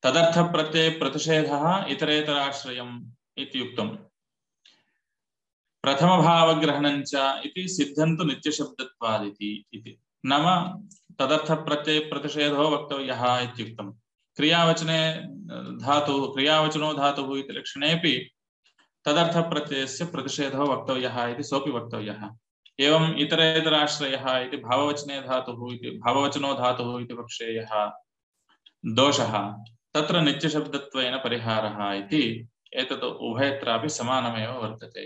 तदर्थप्रत्यये प्रतिषेधः इतरेतराश्रयम् इति उक्तम्। प्रथमभावग्रहणञ्च इति सिद्धन्तु नित्यशब्दत्वादिति इति नाम तदर्थप्रत्यये प्रतिषेधो वक्तव्यः इत्युक्तम्। क्रियावचने धातु क्रियावचनो धातुः इति लक्षणेऽपि तदर्थप्रत्ययस्य प्रतिषेधो वक्तव्यः इति सोऽपि वक्तव्यः। एवम् इतरेतराश्रयः इति भाववचने धातुः इति भाववचनो धातुः इति वक्ष्येयः दोषः तत्र नित्यशब्दत्वेन परिहारः इति एतत् उभयत्रापि समानमेव वर्तते।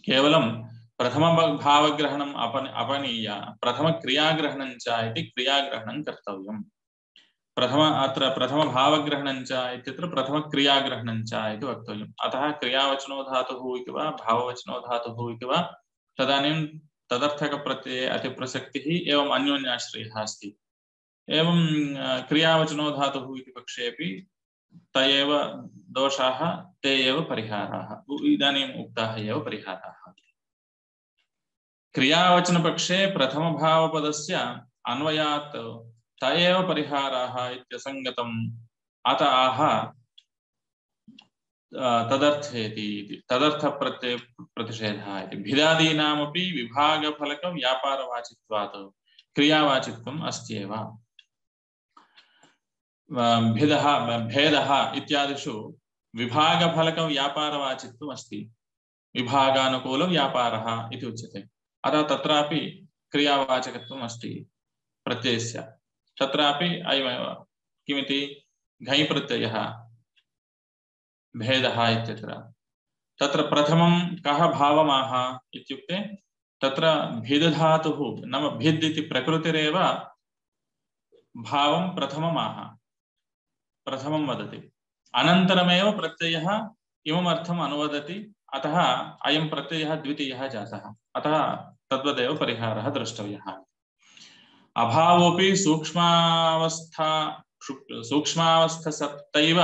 केवलं प्रथमभावग्रहणम् अपन अपनीय प्रथमक्रियाग्रहणं च इति क्रियाग्रहणं कर्तव्यम्। प्रथम अत्र प्रथमभावग्रहणं च इत्यत्र प्रथमक्रियाग्रहणं च इति वक्तव्यम्। अतः क्रियावचनो धातुः इति वा भाववचनो धातुः इति वा तदानीं तदर्थकप्रत्यये अतिप्रसक्तिः एवम् अन्योन्याश्रयः अस्ति। एवं क्रियावचनो धातुः इति पक्षेऽपि त एव दोषाः ते एव परिहाराः इदानीम् उक्ताः एव परिहाराः। क्रियावचनपक्षे प्रथमभावपदस्य अन्वयात् त एव परिहाराः इत्यसङ्गतम् अत आह तदर्थेति तदर्थप्रत्यय प्रतिषेधः इति। भिदादीनामपि विभागफलकव्यापारवाचित्वात् क्रियावाचित्वम् अस्त्येव। भेदः भेदः इत्यादिषु विभागफलकव्यापारवाचित्वम् अस्ति। विभागानुकूलव्यापारः इति उच्यते। अतः तत्रापि क्रियावाचकत्वम् अस्ति प्रत्ययस्य। तत्रापि अयमेव किमिति घञ् प्रत्ययः भेदः इत्यत्र। तत्र प्रथमं कः भावमाह इत्युक्ते तत्र भिदधातुः नाम भिद् इति प्रकृतिरेव भावं प्रथममाह प्रथमं वदति अनन्तरमेव प्रत्ययः इमम् अर्थम् अनुवदति। अतः अयं प्रत्ययः द्वितीयः जातः। अतः तद्वदेव परिहारः द्रष्टव्यः। अभावोऽपि सूक्ष्मावस्था सूक्ष्मावस्थसप्तैव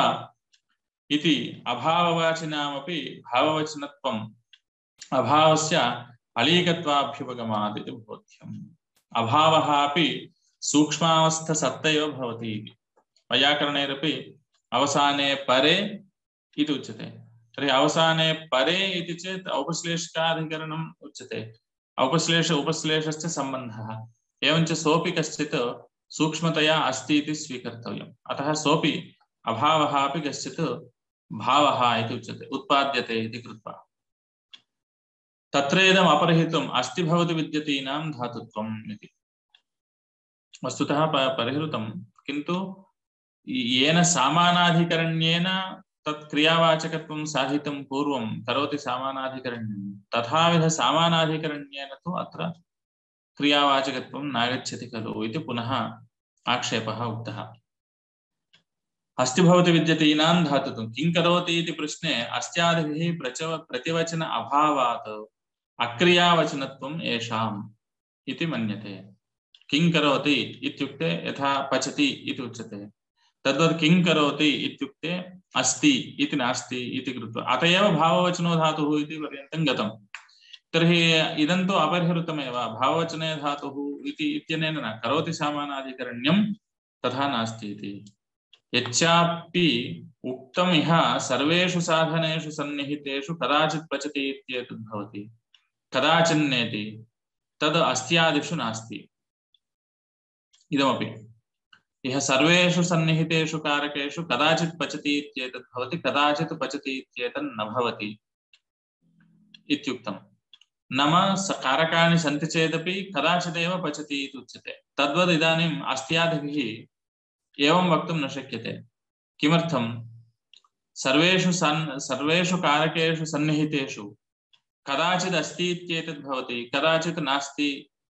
इति अभाववाचिनामपि भाववचनत्वम् अभावस्य अलीकत्वाभ्युपगमात् इति बोध्यम्। अभावः अपि सूक्ष्मावस्थसप्तैव भवति। वैयाकरणैरपि अवसाने परे इति उच्यते। तर्हि अवसाने परे इति चेत् औपश्लेषिकाधिकरणम् उच्यते। औपश्लेष उपश्लेषस्य सम्बन्धः एवञ्च सोऽपि कश्चित् सूक्ष्मतया अस्ति इति स्वीकर्तव्यम्। अतः सोऽपि अभावः अपि कश्चित् भावः इति उच्यते उत्पाद्यते इति कृत्वा। तत्रेदम् अपरिहितम् अस्ति भवति विद्यतीनां धातुत्वम् इति वस्तुतः परिहृतं, किन्तु येन सामानाधिकरण्येन तत् क्रियावाचकत्वं साधितं पूर्वं करोति सामानाधिकरण्यं तथाविध सामानाधिकरण्येन तु अत्र क्रियावाचकत्वं नागच्छति खलु इति पुनः आक्षेपः उक्तः। अस्ति भवति विद्यतीनां धातुत्वं किं करोति इति प्रश्ने अस्त्यादिभिः प्रचव प्रतिवचन अभावात् अक्रियावचनत्वम् येषाम् इति मन्यते। किं करोति इत्युक्ते यथा पचति इति उच्यते तद्वत् किं करोति इत्युक्ते अस्ति इति नास्ति इति कृत्वा अत एव भाववचनो धातुः इति पर्यन्तं गतं। तर्हि इदं तु अपरिहृतमेव। भाववचने धातुः इति इत्यनेन न करोति सामानाधिकरण्यं तथा नास्ति इति। यच्चापि उक्तम् इह सर्वेषु साधनेषु सन्निहितेषु कदाचित् पचति इत्येतद् भवति कदाचिन्नेति तद् अस्त्यादिषु नास्ति। इदमपि इह सर्वेषु सन्निहितेषु कारकेषु कदाचित् पचति इत्येतद् भवति कदाचित् पचति इत्येतन् न भवति इत्युक्तम्। नाम कारकाणि सन्ति चेदपि कदाचिदेव पचति इति उच्यते। तद्वद् इदानीम् अस्त्यादिभिः एवं वक्तुं न शक्यते। किमर्थम् सर्वेषु सन् सर्वेषु कारकेषु सन्निहितेषु कदाचित् अस्ति इत्येतद् भवति, कदाचित् नास्ति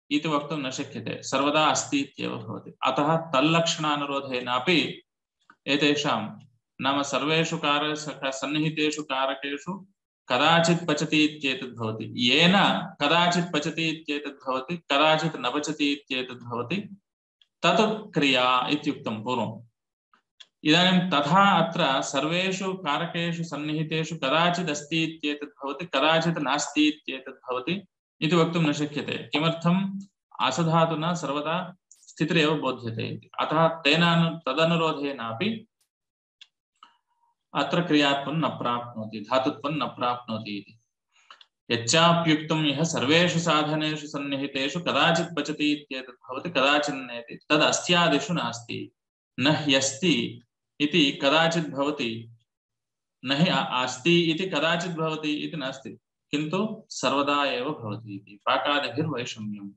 इति वक्तुं न शक्यते, सर्वदा अस्ति इत्येव भवति। अतः तल्लक्षणानुरोधेनापि एतेषां नाम सर्वेषु कार सन्निहितेषु कारकेषु कदाचित् पचति इत्येतद् भवति, येन कदाचित् पचति इत्येतद् भवति, कदाचित् न पचति इत्येतद् भवति, तत् क्रिया इत्युक्तं पूर्वम्। इदानीं तथा अत्र सर्वेषु कारकेषु सन्निहितेषु कदाचित् अस्ति इत्येतद् भवति, कदाचित् नास्ति इत्येतद् भवति इति वक्तुं न शक्यते। किमर्थम्? असधातुना सर्वदा स्थितिरेव बोध्यते इति। अतः तेन तदनुरोधेनापि अत्र क्रियात्वं न प्राप्नोति, धातुत्वं न प्राप्नोति इति। यच्चाप्युक्तं यः सर्वेषु साधनेषु सन्निहितेषु कदाचित् पचति इत्येतद् भवति, कदाचित् नेति, तद् अस्त्यादिषु नास्ति। न ह्यस्ति इति कदाचित् भवति, न हि अस्ति इति कदाचित् भवति इति नास्ति, किन्तु सर्वदा एव भवति इति। पाकादिभिर्वैषम्यम्।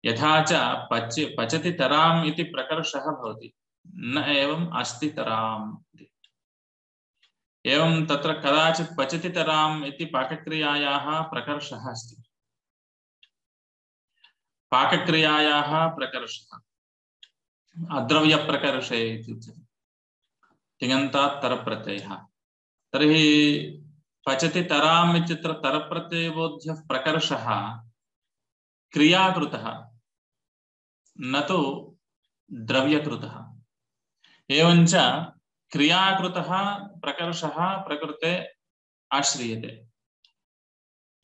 यथा च पच पचति तराम् इति प्रकर्षः भवति, न एवम् अस्ति तराम् इति। एवं तत्र कदाचित् पचति तराम् इति पाकक्रियायाः प्रकर्षः अस्ति। पाकक्रियायाः प्रकर्षः अद्रव्यप्रकर्षे इत्युच्यते, तिङन्तात् तरप्रत्ययः। तर्हि पचति तराम् इत्यत्र तरप्रत्ययबोध्यः प्रकर्षः क्रियाकृतः, न तु द्रव्यकृतः। एवञ्च क्रियाकृतः प्रकर्षः प्रकृते आश्रियते।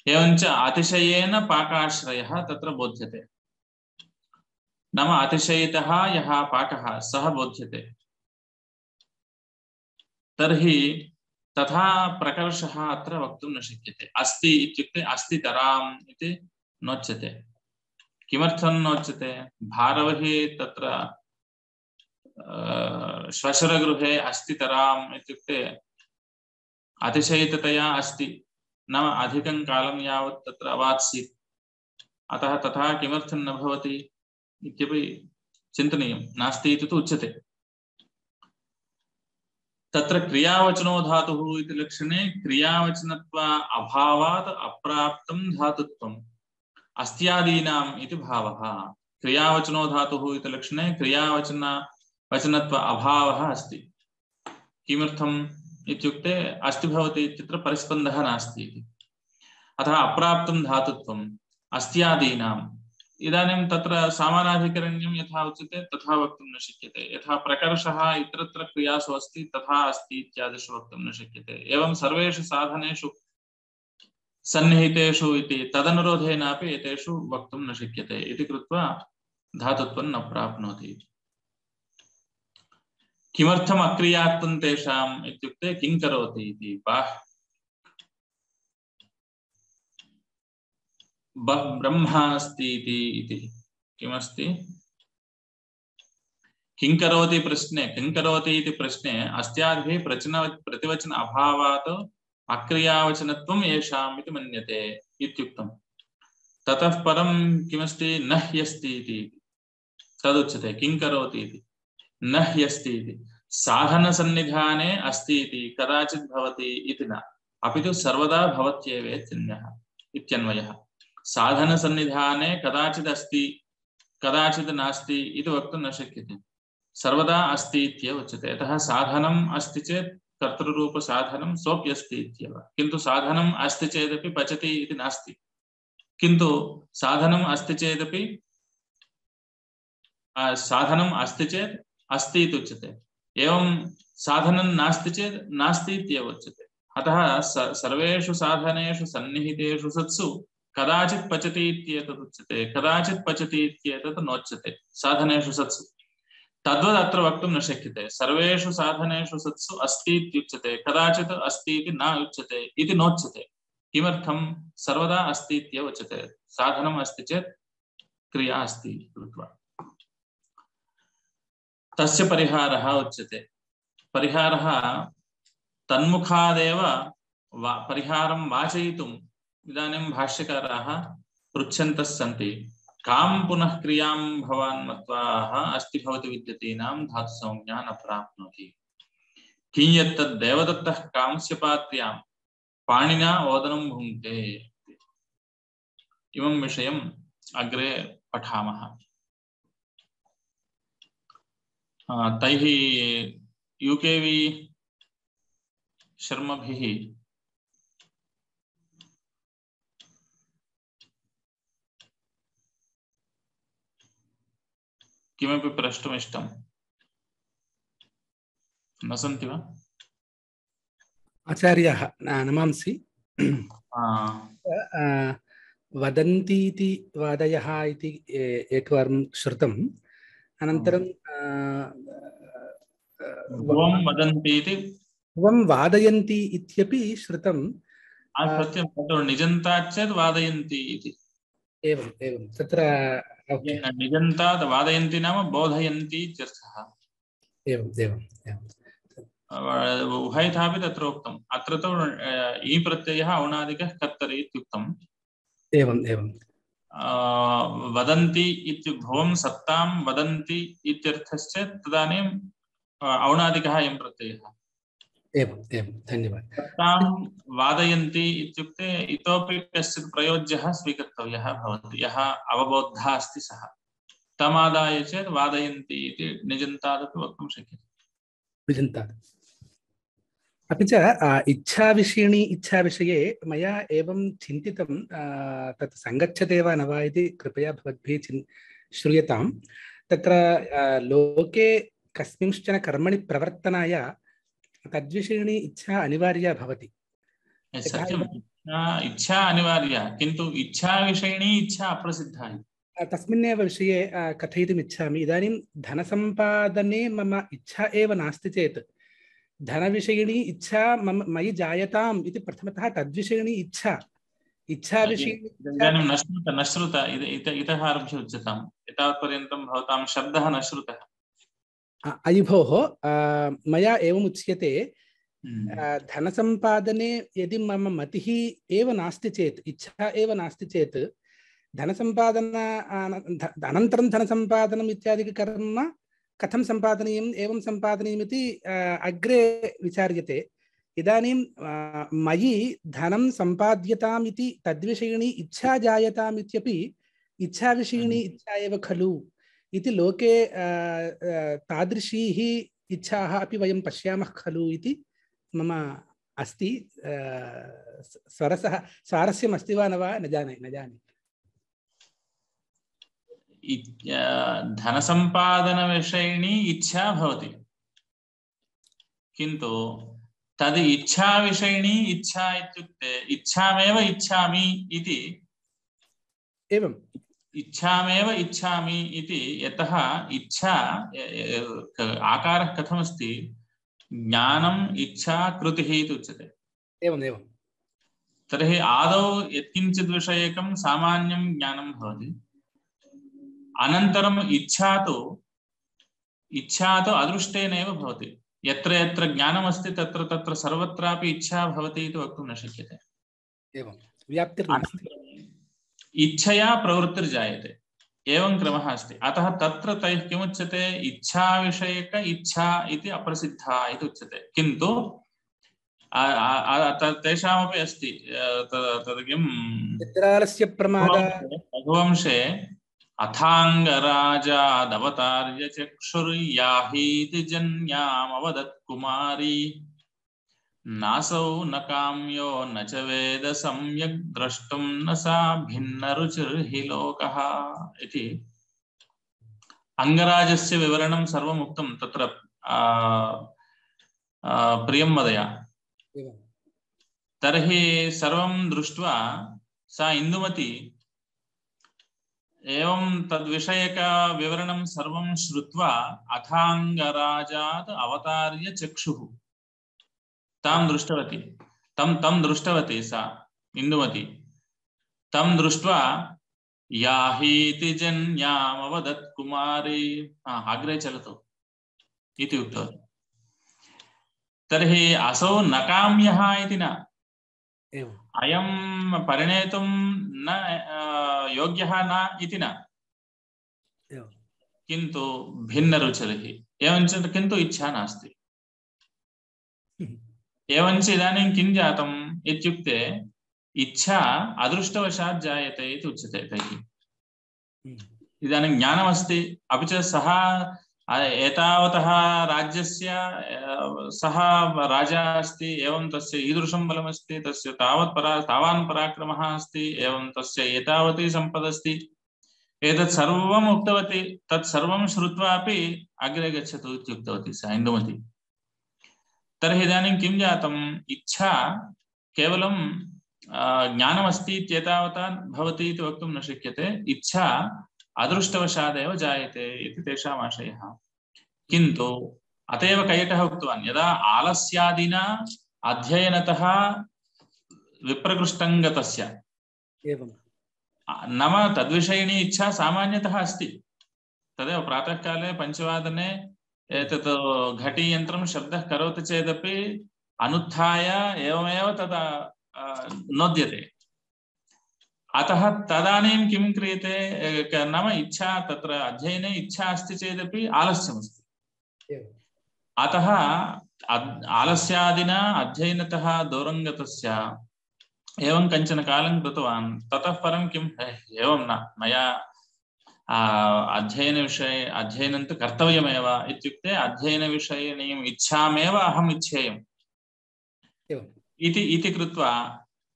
एवञ्च अतिशयेन पाकाश्रयः तत्र बोध्यते, नाम अतिशयितः यः पाकः सः बोध्यते। तर्हि तथा प्रकर्षः अत्र वक्तुं न शक्यते। अस्ति इत्युक्ते अस्ति तराम् इति नोच्यते। किमर्थं नोच्यते? भारवहि तत्र श्वशुरगृहे अस्ति तराम् इत्युक्ते अतिशयिततया अस्ति, नाम अधिकं कालं यावत् तत्र अवात्सीत्, अतः तथा किमर्थं न भवति इत्यपि चिन्तनीयं। नास्ति इति तु उच्यते। तत्र क्रियावचनो धातुः इति लक्षणे क्रियावचनत्वा अभावात् अप्राप्तं धातुत्वम् अस्त्यादीनाम् इति भावः। क्रियावचनो धातुः इति लक्षणे क्रियावचन वचनत्व अभावः अस्ति। किमर्थम् इत्युक्ते अस्ति भवति इत्यत्र परिस्पन्दः नास्ति इति। अतः अप्राप्तं धातुत्वम् अस्त्यादीनाम्। इदानीं तत्र सामानाधिकरण्यं यथा उच्यते तथा वक्तुं न शक्यते। यथा प्रकर्षः इतरत्र क्रियासु अस्ति तथा अस्ति इत्यादिषु वक्तुं न शक्यते। एवं सर्वेषु साधनेषु सन्निहितेषु इति तदनुरोधेनापि एतेषु वक्तुं न शक्यते इति कृत्वा धातुत्वं न प्राप्नोति। किमर्थम् अक्रियात्वं तेषाम् इत्युक्ते किं करोति इति। ब्रह्मास्ति इति किमस्ति? किं करोति प्रश्ने किं करोति इति प्रश्ने अस्त्यादिभिः प्रचन प्रतिवचन अभावात् अक्रियावचनत्वं येषाम् इति मन्यते इत्युक्तम्। ततः परं किमस्ति? न ह्यस्ति इति तदुच्यते। किं करोति इति न ह्यस्ति इति साधनसन्निधाने अस्ति इति कदाचित् भवति इति न, अपि तु सर्वदा भवत्येवेत्यन्यः इत्यन्वयः। साधनसन्निधाने कदाचित् अस्ति कदाचित् नास्ति इति वक्तुं न शक्यते। सर्वदा अस्ति इत्येव उच्यते। यतः साधनम् अस्ति चेत् कर्तृरूपसाधनं सोऽप्यस्ति इत्येव। किन्तु साधनम् अस्ति चेदपि पचति इति नास्ति, किन्तु साधनम् अस्ति चेदपि साधनम् अस्ति चेत् अस्ति इति उच्यते। एवं साधनं नास्ति चेत् नास्ति इत्येव उच्यते। अतः सर्वेषु साधनेषु सन्निहितेषु सत्सु कदाचित् पचति इत्येतत् उच्यते, कदाचित् पचति इत्येतत् नोच्यते। साधनेषु सत्सु तद्वद् अत्र वक्तुं न शक्यते। सर्वेषु साधनेषु सत्सु अस्ति इत्युच्यते, कदाचित् अस्ति इति न उच्यते इति नोच्यते। किमर्थं? सर्वदा अस्ति इत्येव उच्यते। साधनम् अस्ति चेत् क्रिया अस्ति कृत्वा तस्य परिहारः उच्यते। परिहारः तन्मुखादेव वा परिहारं वाचयितुम् इदानीं भाष्यकाराः पृच्छन्तः सन्ति। कां पुनः क्रियां भवान् मत्वाः अस्ति भवति विद्यतीनां धातुसंज्ञा न प्राप्नोति। किञ्यत्तद् देवदत्तः कांस्यपात्र्यां पाणिना ओदनं भुङ्क्ते इमं विषयम् अग्रे पठामः। तैः यूकेवी शर्मभिः किमपि प्रष्टुमिष्टं न सन्ति वा? आचार्याः नमांसि। वदन्ति इति वादयः इति एकवारं श्रुतम्। अनन्तरं भुवं वदन्ति इति भुवं वादयन्ति इत्यपि श्रुतं। सत्यं तत्र निजन्तात् चेत् वादयन्ति इति। एवम् एवं तत्र निजन्तात् वादयन्ति नाम बोधयन्ति इत्यर्थः। एवम् एवम् एवम् उभयथापि तत्र उक्तम्। अत्र तु ई प्रत्ययः औणादिकः कर्तरि इत्युक्तम्। एवम् एवं वदन्ति इत्युक्तं सत्तां वदन्ति इत्यर्थश्चेत् तदानीं औणादिकः अयं प्रत्ययः। एवम् एवं धन्यवादः। सत्तां वादयन्ति इत्युक्ते इतोपि कश्चित् प्रयोज्यः स्वीकर्तव्यः भवति, यः अवबोद्धः अस्ति सः। तमादाय चेत् वादयन्ति इति निजन्तादपि वक्तुं शक्यते। निजन्तात् अपि च इच्छाविषयिणी इच्छाविषये मया एवं चिन्तितं, तत् सङ्गच्छते वा न वा इति कृपया भवद्भिः चिन् श्रूयताम्। तत्र लोके कस्मिंश्चन कर्मणि प्रवर्तनाय तद्विषयिणी इच्छा अनिवार्या भवति। सत्यम्, इच्छा अनिवार्या, किन्तु इच्छाविषयिणी इच्छा अप्रसिद्धा। तस्मिन्नेव विषये कथयितुम् इच्छामि। इदानीं धनसम्पादने मम इच्छा एव नास्ति चेत् धनविषयिणी इच्छा मम मयि जायताम् इति प्रथमतः तद्विषयिणी इच्छा इच्छाविषयिणी इदानीं न श्रुत न श्रुत इतः आरभ्य उच्यताम्। एतावत्पर्यन्तं भवतां शब्दः न श्रुतः। अयि भोः, मया एवम् उच्यते, धनसम्पादने यदि मम मतिः एव नास्ति चेत्, इच्छा एव नास्ति चेत् धनसम्पादन अनन्तरं धनसम्पादनम् इत्यादिककर्म कथं सम्पादनीयम् एवं सम्पादनीयम् इति अग्रे विचार्यते। इदानीं मयि धनं सम्पाद्यताम् इति तद्विषयिणी इच्छा जायताम् इत्यपि इच्छाविषयिणी इच्छा एव खलु इति लोके तादृशीः इच्छाः अपि वयं पश्यामः खलु इति मम अस्ति। स्वरसः स्वारस्यम् अस्ति वा न वा न जाने न जाने धनसम्पादनविषयिणी इच्छा भवति, किन्तु तद् इच्छाविषयिणी इच्छा इत्युक्ते इच्छामेव इच्छामि इति एवम् इच्छामेव इच्छामि इति यतः इच्छा आकारः कथमस्ति, ज्ञानम् इच्छा कृतिः इति उच्यते। एवम् एवं तर्हि आदौ यत्किञ्चित् विषयकं सामान्यं ज्ञानं भवति, अनन्तरम् इच्छा तु इच्छा तु अदृष्टेनैव भवति। यत्र यत्र ज्ञानमस्ति तत्र तत्र सर्वत्रापि इच्छा भवति इति वक्तुं न शक्यते। एवं व्याप्तिर्नास्ति, इच्छया प्रवृत्तिर्जायते, एवं क्रमः अस्ति। अतः तत्र तैः किमुच्यते, इच्छाविषयक इच्छा इति अप्रसिद्धा इति उच्यते। किन्तु तेषामपि अस्ति तद् किं निद्रालस्य प्रमादः रघुवंशे अथाङ्गराजादवतार्य चक्षुर्याहीति जन्यामवदत् कुमारी नासौ न काम्यो न च वेद सम्यक् द्रष्टुं न सा भिन्नरुचिर्हि लोकः इति अङ्गराजस्य विवरणं सर्वम् उक्तं तत्र प्रियं वदया। तर्हि सर्वं दृष्ट्वा सा इन्दुमती एवं तद्विषयक विवरणं सर्वं श्रुत्वा अथाङ्गराजात् अवतार्य चक्षुः तां दृष्टवती तं तं दृष्टवती सा इन्दुमती। तं दृष्ट्वा याहीति जन्यामवदत् कुमारी, अग्रे चलतु इति उक्तवती। तर्हि असौ न काम्यः इति न, अयं परिणेतुं न योग्यः न इति न, किन्तु भिन्नरुचिर्हि, एवञ्च किन्तु इच्छा नास्ति। एवञ्च इदानीं किं जातम् इत्युक्ते इच्छा अदृष्टवशात् जायते इति उच्यते तैः। इदानीं ज्ञानमस्ति, अपि च सः एतावतः राज्यस्य सः राजा अस्ति, एवं तस्य ईदृशं बलमस्ति, तस्य तावत् परा तावान् पराक्रमः अस्ति, एवं तस्य एतावती सम्पदस्ति, एतत् सर्वम् उक्तवती, तत् सर्वं श्रुत्वापि अग्रे गच्छतु इत्युक्तवती सा इन्दुमती। तर्हि इदानीं किं जातम्, इच्छा केवलं ज्ञानमस्ति इत्येतावता भवति इति वक्तुं न शक्यते, इच्छा अदृष्टवशादेव जायते इति तेषाम् आशयः। किन्तु अत एव कैटः उक्तवान्, यदा आलस्यादिना अध्ययनतः विप्रकृष्टं गतस्य, नाम तद्विषयिणी इच्छा सामान्यतः अस्ति। तदेव प्रातःकाले पञ्चवादने एतत् घटीयन्त्रं शब्दः करोति चेदपि अनुत्थाय एवमेव तदा नोद्यते। अतः तदानीं किं क्रियते, नाम इच्छा, तत्र अध्ययने इच्छा अस्ति चेदपि आलस्यमस्ति। अतः आलस्यादिना अध्ययनतः दूरं गतस्य एवं कञ्चन कालं कृतवान्। ततः परं किम्, एवं न, मया अध्ययनविषये अध्ययनं तु कर्तव्यमेव इत्युक्ते अध्ययनविषयिणीम् इच्छामेव अहम् इच्छेयम् इति इति कृत्वा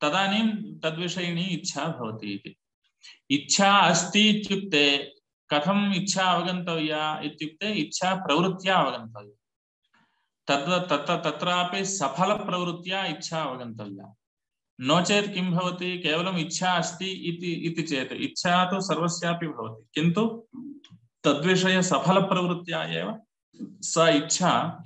तदानीं तद्विषयिणी इच्छा भवति इति। इच्छा अस्ति इत्युक्ते कथम् इच्छा अवगन्तव्या इत्युक्ते इच्छा प्रवृत्त्या अवगन्तव्या। तत्र तत्र तत्रापि सफलप्रवृत्त्या इच्छा अवगन्तव्या। नो चेत् किं भवति, केवलम् इच्छा अस्ति इति इति चेत् इच्छा तु सर्वस्यापि भवति, किन्तु तद्विषये सफलप्रवृत्त्या एव सा इच्छा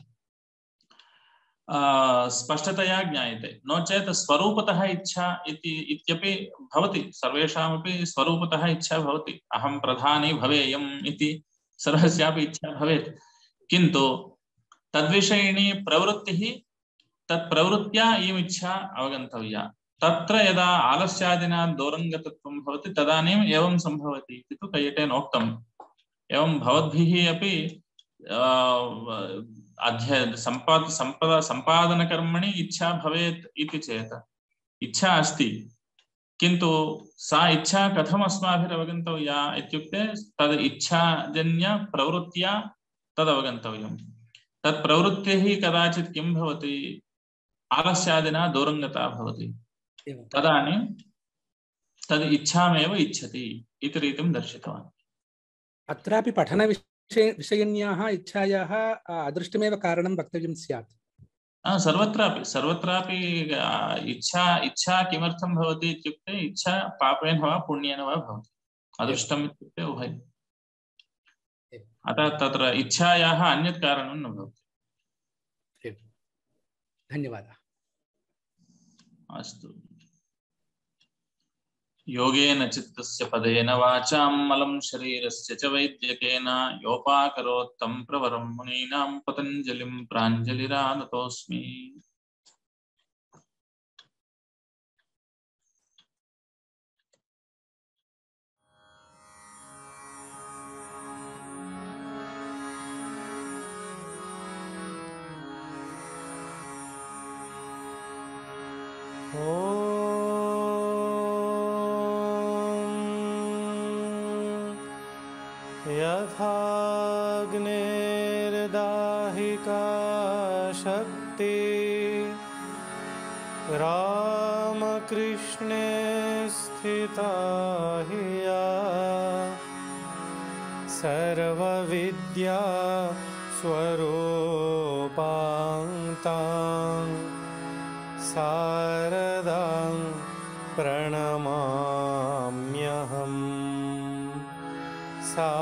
स्पष्टतया ज्ञायते। नो चेत् स्वरूपतः इच्छा इति इत्यपि भवति, सर्वेषामपि स्वरूपतः इच्छा भवति, अहं प्रधानी भवेयम् इति सर्वस्यापि इच्छा भवेत्, किन्तु तद्विषयिणी प्रवृत्तिः, तत्प्रवृत्त्या इयम् इच्छा अवगन्तव्या। तत्र यदा आलस्यादिना दूरङ्गतत्वं भवति तदानीम् एवं सम्भवति इति तु कैयटेनोक्तम्। एवं भवद्भिः अपि अध्ययन सम्पाद सम्पद सम्पादनकर्मणि इच्छा भवेत् इति चेत्, इच्छा अस्ति किन्तु सा इच्छा कथम् अस्माभिरवगन्तव्या इत्युक्ते तद् इच्छाजन्य प्रवृत्त्या तदवगन्तव्यम्। तत् प्रवृत्तिः कदाचित् किं भवति, आलस्यादिना दूरङ्गता भवति, तदानीं तद् इच्छामेव इच्छति इति रीतिं दर्शितवान्। अत्रापि पठनविषये विषयिण्याः इच्छायाः अदृष्टमेव कारणं वक्तव्यं स्यात्। सर्वत्रापि सर्वत्रापि इच्छा इच्छा किमर्थं भवति इत्युक्ते इच्छा पापेन वा पुण्येन वा भवति, अदृष्टम् इत्युक्ते उभयम्। अतः तत्र इच्छायाः अन्यत् कारणं न भवति। धन्यवादः। अस्तु। योगेन चित्तस्य पदेन वाचां मलं शरीरस्य च वैद्यकेन योपाकरोत् तं प्रवरं मुनीनां पतञ्जलिं प्राञ्जलिरानतोऽस्मि। यथाग्नेर्दाहिका शक्ति रामकृष्णे स्थिता हि या सर्वविद्या स्वरूपां शारदां प्रणमाम्यहम्। सा